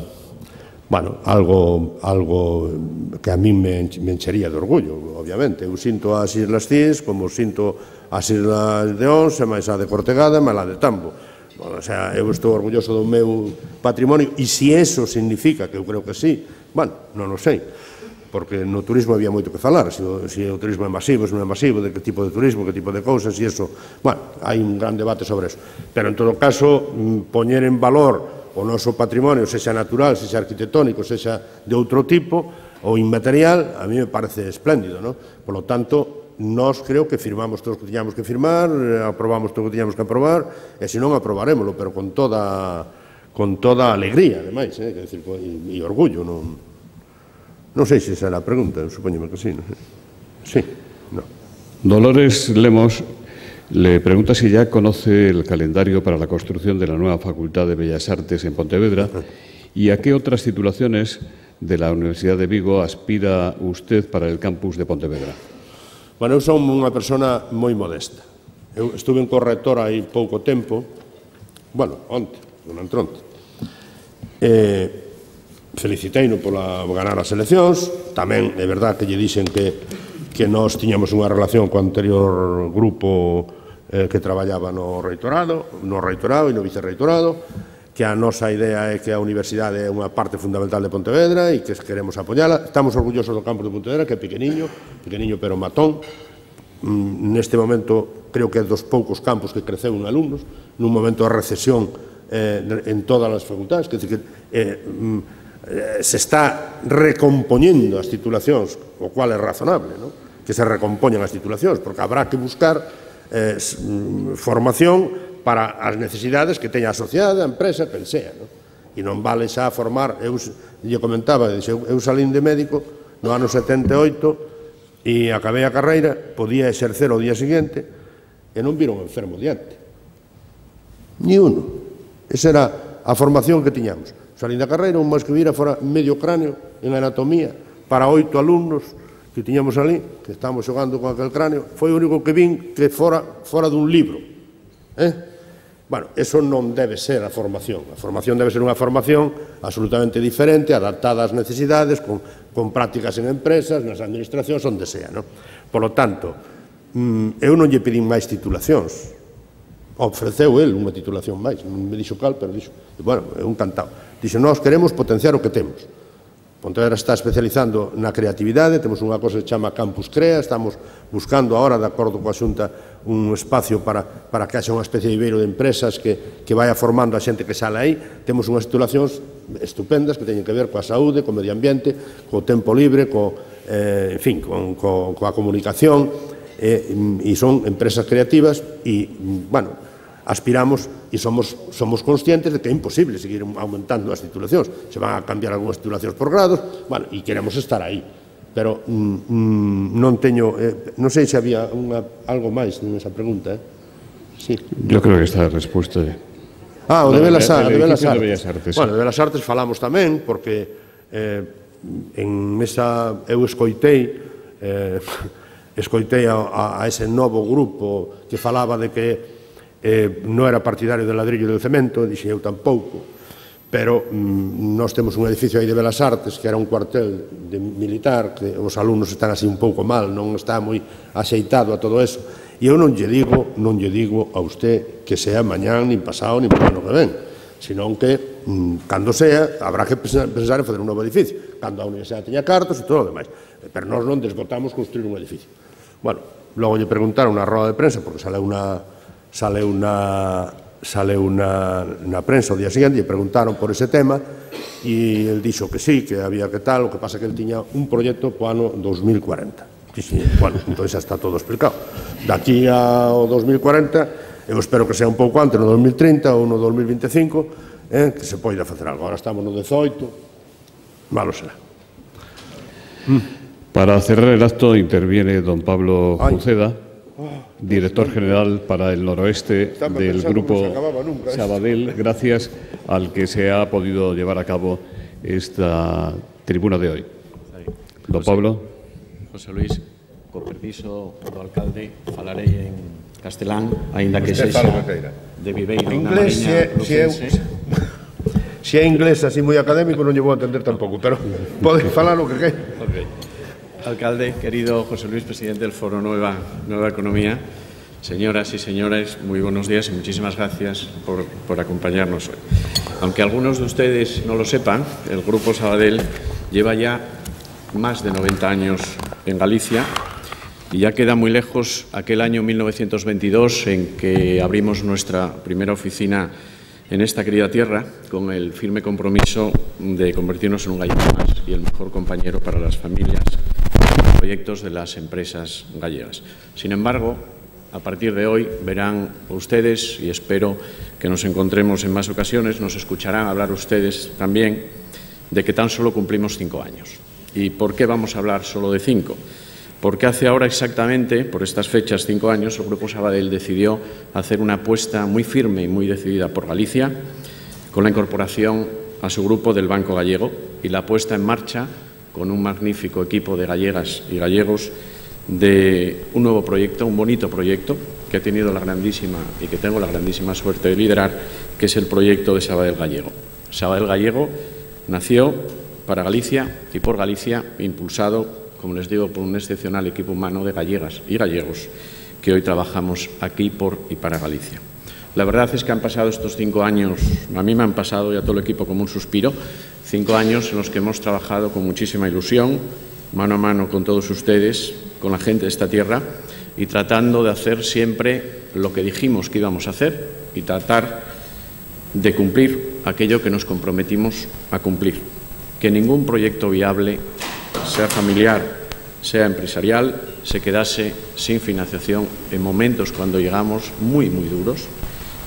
bueno, algo, algo que a mí me, me enchería de orgullo, obviamente. Eu sinto as Islas Cíes como sinto as Islas de Ons, e máis a de Cortegada, e máis a de Tambo. Bueno, o sea, eu estou orgulloso do meu patrimonio, e se eso significa, que eu creo que sí, bueno, non o sei, porque no turismo había moito que falar, se o, se o turismo é masivo, se non é masivo, de que tipo de turismo, que tipo de cousas, e eso, bueno, hai un gran debate sobre eso. Pero, en todo caso, poñer en valor o noso patrimonio, sexa natural, sexa arquitectónico, sexa de outro tipo, ou inmaterial, a mí me parece espléndido, non? Por lo tanto, nós creo que firmamos todos o que tiñamos que firmar, aprobamos todo o que tiñamos que aprobar, e se non aprobarémoslo, pero con toda con toda alegría, ademais, eh, que decir, e, e orgullo. Non, non sei se esa é a pregunta, supoño que sí. Non sei. Sí, no. Dolores Lemos le pregunta si ya conoce el calendario para la construcción de la nueva Facultad de Bellas Artes en Pontevedra y a qué otras titulaciones de la Universidad de Vigo aspira usted para el campus de Pontevedra. Bueno, eu son unha persona moi modesta. Eu estuve en correctora hai pouco tempo, bueno, onte, non entronte. Eh, feliciteino pola ganar as eleccións, tamén é verdad que lle dixen que, que nós tiñamos unha relación co anterior grupo eh, que traballaba no reitorado, no reitorado e no vicerreitorado, que a nosa idea é que a universidade é unha parte fundamental de Pontevedra e que queremos apoiala. Estamos orgullosos do campus de Pontevedra, que é pequeniño, pequeniño pero matón. Neste momento, creo que é dos poucos campus que creceu en alumnos, nun momento de recesión eh, en todas as facultades, que, que eh, eh, se está recompoñendo as titulacións, o cual é razonable, ¿no? Que se recompoñan as titulacións, porque habrá que buscar eh, formación para as necesidades que teña a sociedade, a empresa, que sea, non? E non vale xa formar, eu lle comentaba, eu salín de médico no ano setenta e oito e acabei a carreira, podía exercer o día seguinte e non vira un enfermo diante. Ni uno. Esa era a formación que tiñamos. Salín da carreira, un máis que vira fora medio cráneo en anatomía para oito alumnos que tiñamos ali, que estábamos xogando con aquel cráneo. Foi o único que vin que fora, fora dun libro. Eh? Bueno, eso non debe ser a formación. A formación debe ser unha formación absolutamente diferente, adaptada ás necesidades, con, con prácticas en empresas, nas administracións, onde sea, non? Por lo tanto, eu non lle pedín máis titulacións. Ofreceu el unha titulación máis, non me dixo cal, pero dixo, bueno, é un cantado. Dixo, nós queremos potenciar o que temos. Pontevedra está especializando na creatividade, temos unha cosa que se chama Campus Crea, estamos buscando agora, de acordo coa Xunta, un espacio para, para que haxa unha especie de ibeiro de empresas que, que vaya formando a xente que sale aí. Temos unhas titulacións estupendas que teñen que ver coa saúde, co medio ambiente, co tempo libre, co, eh, en fin, con, co, coa comunicación, eh, e son empresas creativas e, bueno, aspiramos e somos, somos conscientes de que é imposible seguir aumentando as titulacións. Se van a cambiar algunhas titulacións por grados, bueno, e queremos estar aí. Pero mm, non teño, eh, non sei se había unha, algo máis nesa pregunta, eh? Sí. Yo creo que está a respuesta. Ah, o de Belas, de, de, de Belas Artes. De Bellas Artes. Bueno, de Belas Artes falamos tamén, porque eh, en esa, eu escoitei, eh, escoitei a, a ese novo grupo que falaba de que eh, non era partidario do ladrillo e do cemento, e dixen eu tampouco, pero mm, nós temos un edificio aí de Belas Artes que era un cuartel de militar, que os alumnos están así un pouco mal, non está moi axeitado a todo eso, e eu non lle digo, non lle digo a usted que sea mañán, nin pasado, nin por ano que ven, senón que, mm, cando sea, habrá que pensar en fazer un novo edificio, cando a universidade teña cartos e todo o demais, pero nós non desbotamos construir un edificio. Bueno, logo lle preguntaron na roda de prensa, porque sale unha sale unha sale unha na prensa o día seguinte, e preguntaron por ese tema, e el dixo que sí, que había que tal, o que pasa que el tiña un proxecto po ano dos mil cuarenta. Dixen, bueno, entón xa está todo explicado. Daqui ao dos mil cuarenta, eu espero que sea un pouco antes, no dos mil trinta ou no dos mil vinte e cinco, eh, que se poida facer algo. Agora estamos no dezoito, malo será. Mm. Para cerrar el acto interviene don Pablo Junceda, director general para el noroeste del Grupo Sabadell, gracias al que se ha podido llevar a cabo esta tribuna de hoy. Don Pablo. José Luis, co permiso do alcalde, falarei en castelán, aínda que sexa de Viveiro na Mariña Lucense. Se é inglés así moi académico non lle vou entender tampouco, pero pode falar o que queira. Okay. Alcalde, querido José Luis, presidente del Foro Nueva, Nueva Economía, señoras y señores, muy buenos días y muchísimas gracias por, por acompañarnos hoy. Aunque algunos de ustedes no lo sepan, el Grupo Sabadell lleva ya más de noventa años en Galicia y ya queda muy lejos aquel año mil novecientos veintidós en que abrimos nuestra primera oficina en esta querida tierra con el firme compromiso de convertirnos en un gallego más y el mejor compañero para las familias y proyectos de las empresas gallegas. Sin embargo, a partir de hoy verán ustedes, y espero que nos encontremos en más ocasiones, nos escucharán hablar ustedes también de que tan solo cumplimos cinco años. ¿Y por qué vamos a hablar solo de cinco? Porque hace ahora exactamente, por estas fechas, cinco años, el Grupo Sabadell decidió hacer una apuesta muy firme y muy decidida por Galicia, con la incorporación a su grupo del Banco Gallego y la puesta en marcha, con un magnífico equipo de gallegas y gallegos, de un nuevo proyecto, un bonito proyecto, que he tenido la grandísima y que tengo la grandísima suerte de liderar, que es el proyecto de Sabadell Gallego. Sabadell Gallego nació para Galicia y por Galicia, impulsado, como les digo, por un excepcional equipo humano de gallegas y gallegos que hoy trabajamos aquí por y para Galicia. La verdad es que han pasado estos cinco años, a mí me han pasado y a todo el equipo como un suspiro, cinco años en los que hemos trabajado con muchísima ilusión, mano a mano con todos ustedes, con la gente de esta tierra y tratando de hacer siempre lo que dijimos que íbamos a hacer y tratar de cumplir aquello que nos comprometimos a cumplir. Que ningún proyecto viable, sea familiar, sea empresarial, se quedase sin financiación en momentos cuando llegamos muy, muy duros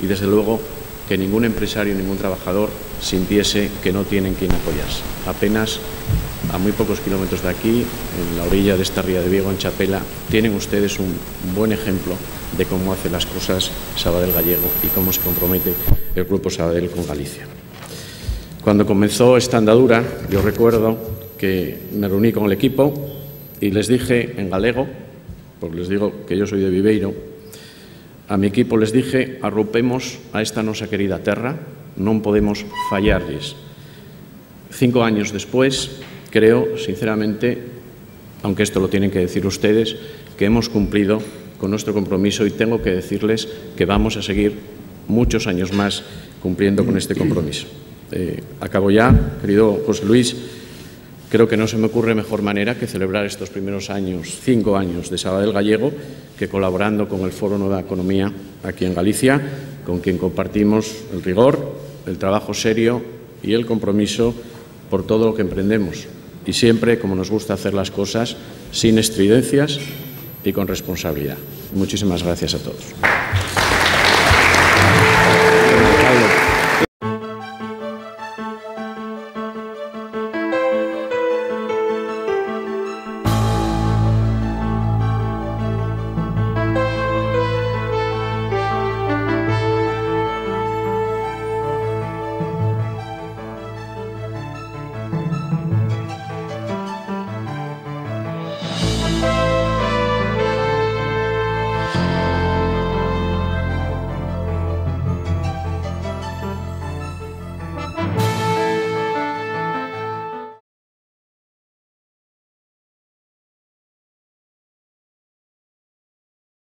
y, desde luego, que ningún empresario, ningún trabajador sintiese que no tienen quien apoyarse. Apenas a muy pocos kilómetros de aquí, en la orilla de esta ría de Vigo, en Chapela, tienen ustedes un buen ejemplo de cómo hace las cosas Sabadell Gallego y cómo se compromete el Grupo Sabadell con Galicia. Cuando comenzó esta andadura, yo recuerdo que me reuní con el equipo y les dije en galego, porque les digo que yo soy de Viveiro, a mi equipo les dije, arropemos a esta nosa querida terra, non podemos fallarlles. Cinco años después, creo, sinceramente, aunque esto lo tienen que decir ustedes, que hemos cumplido con nuestro compromiso y tengo que decirles que vamos a seguir muchos años más cumpliendo con este compromiso. Eh, acabo ya, querido José Luis, creo que no se me ocurre mejor manera que celebrar estos primeros años, cinco años de Sabadell Gallego, que colaborando con el Foro Nueva Economía aquí en Galicia, con quien compartimos el rigor, el trabajo serio y el compromiso por todo lo que emprendemos. Y siempre, como nos gusta hacer las cosas, sin estridencias y con responsabilidad. Muchísimas gracias a todos.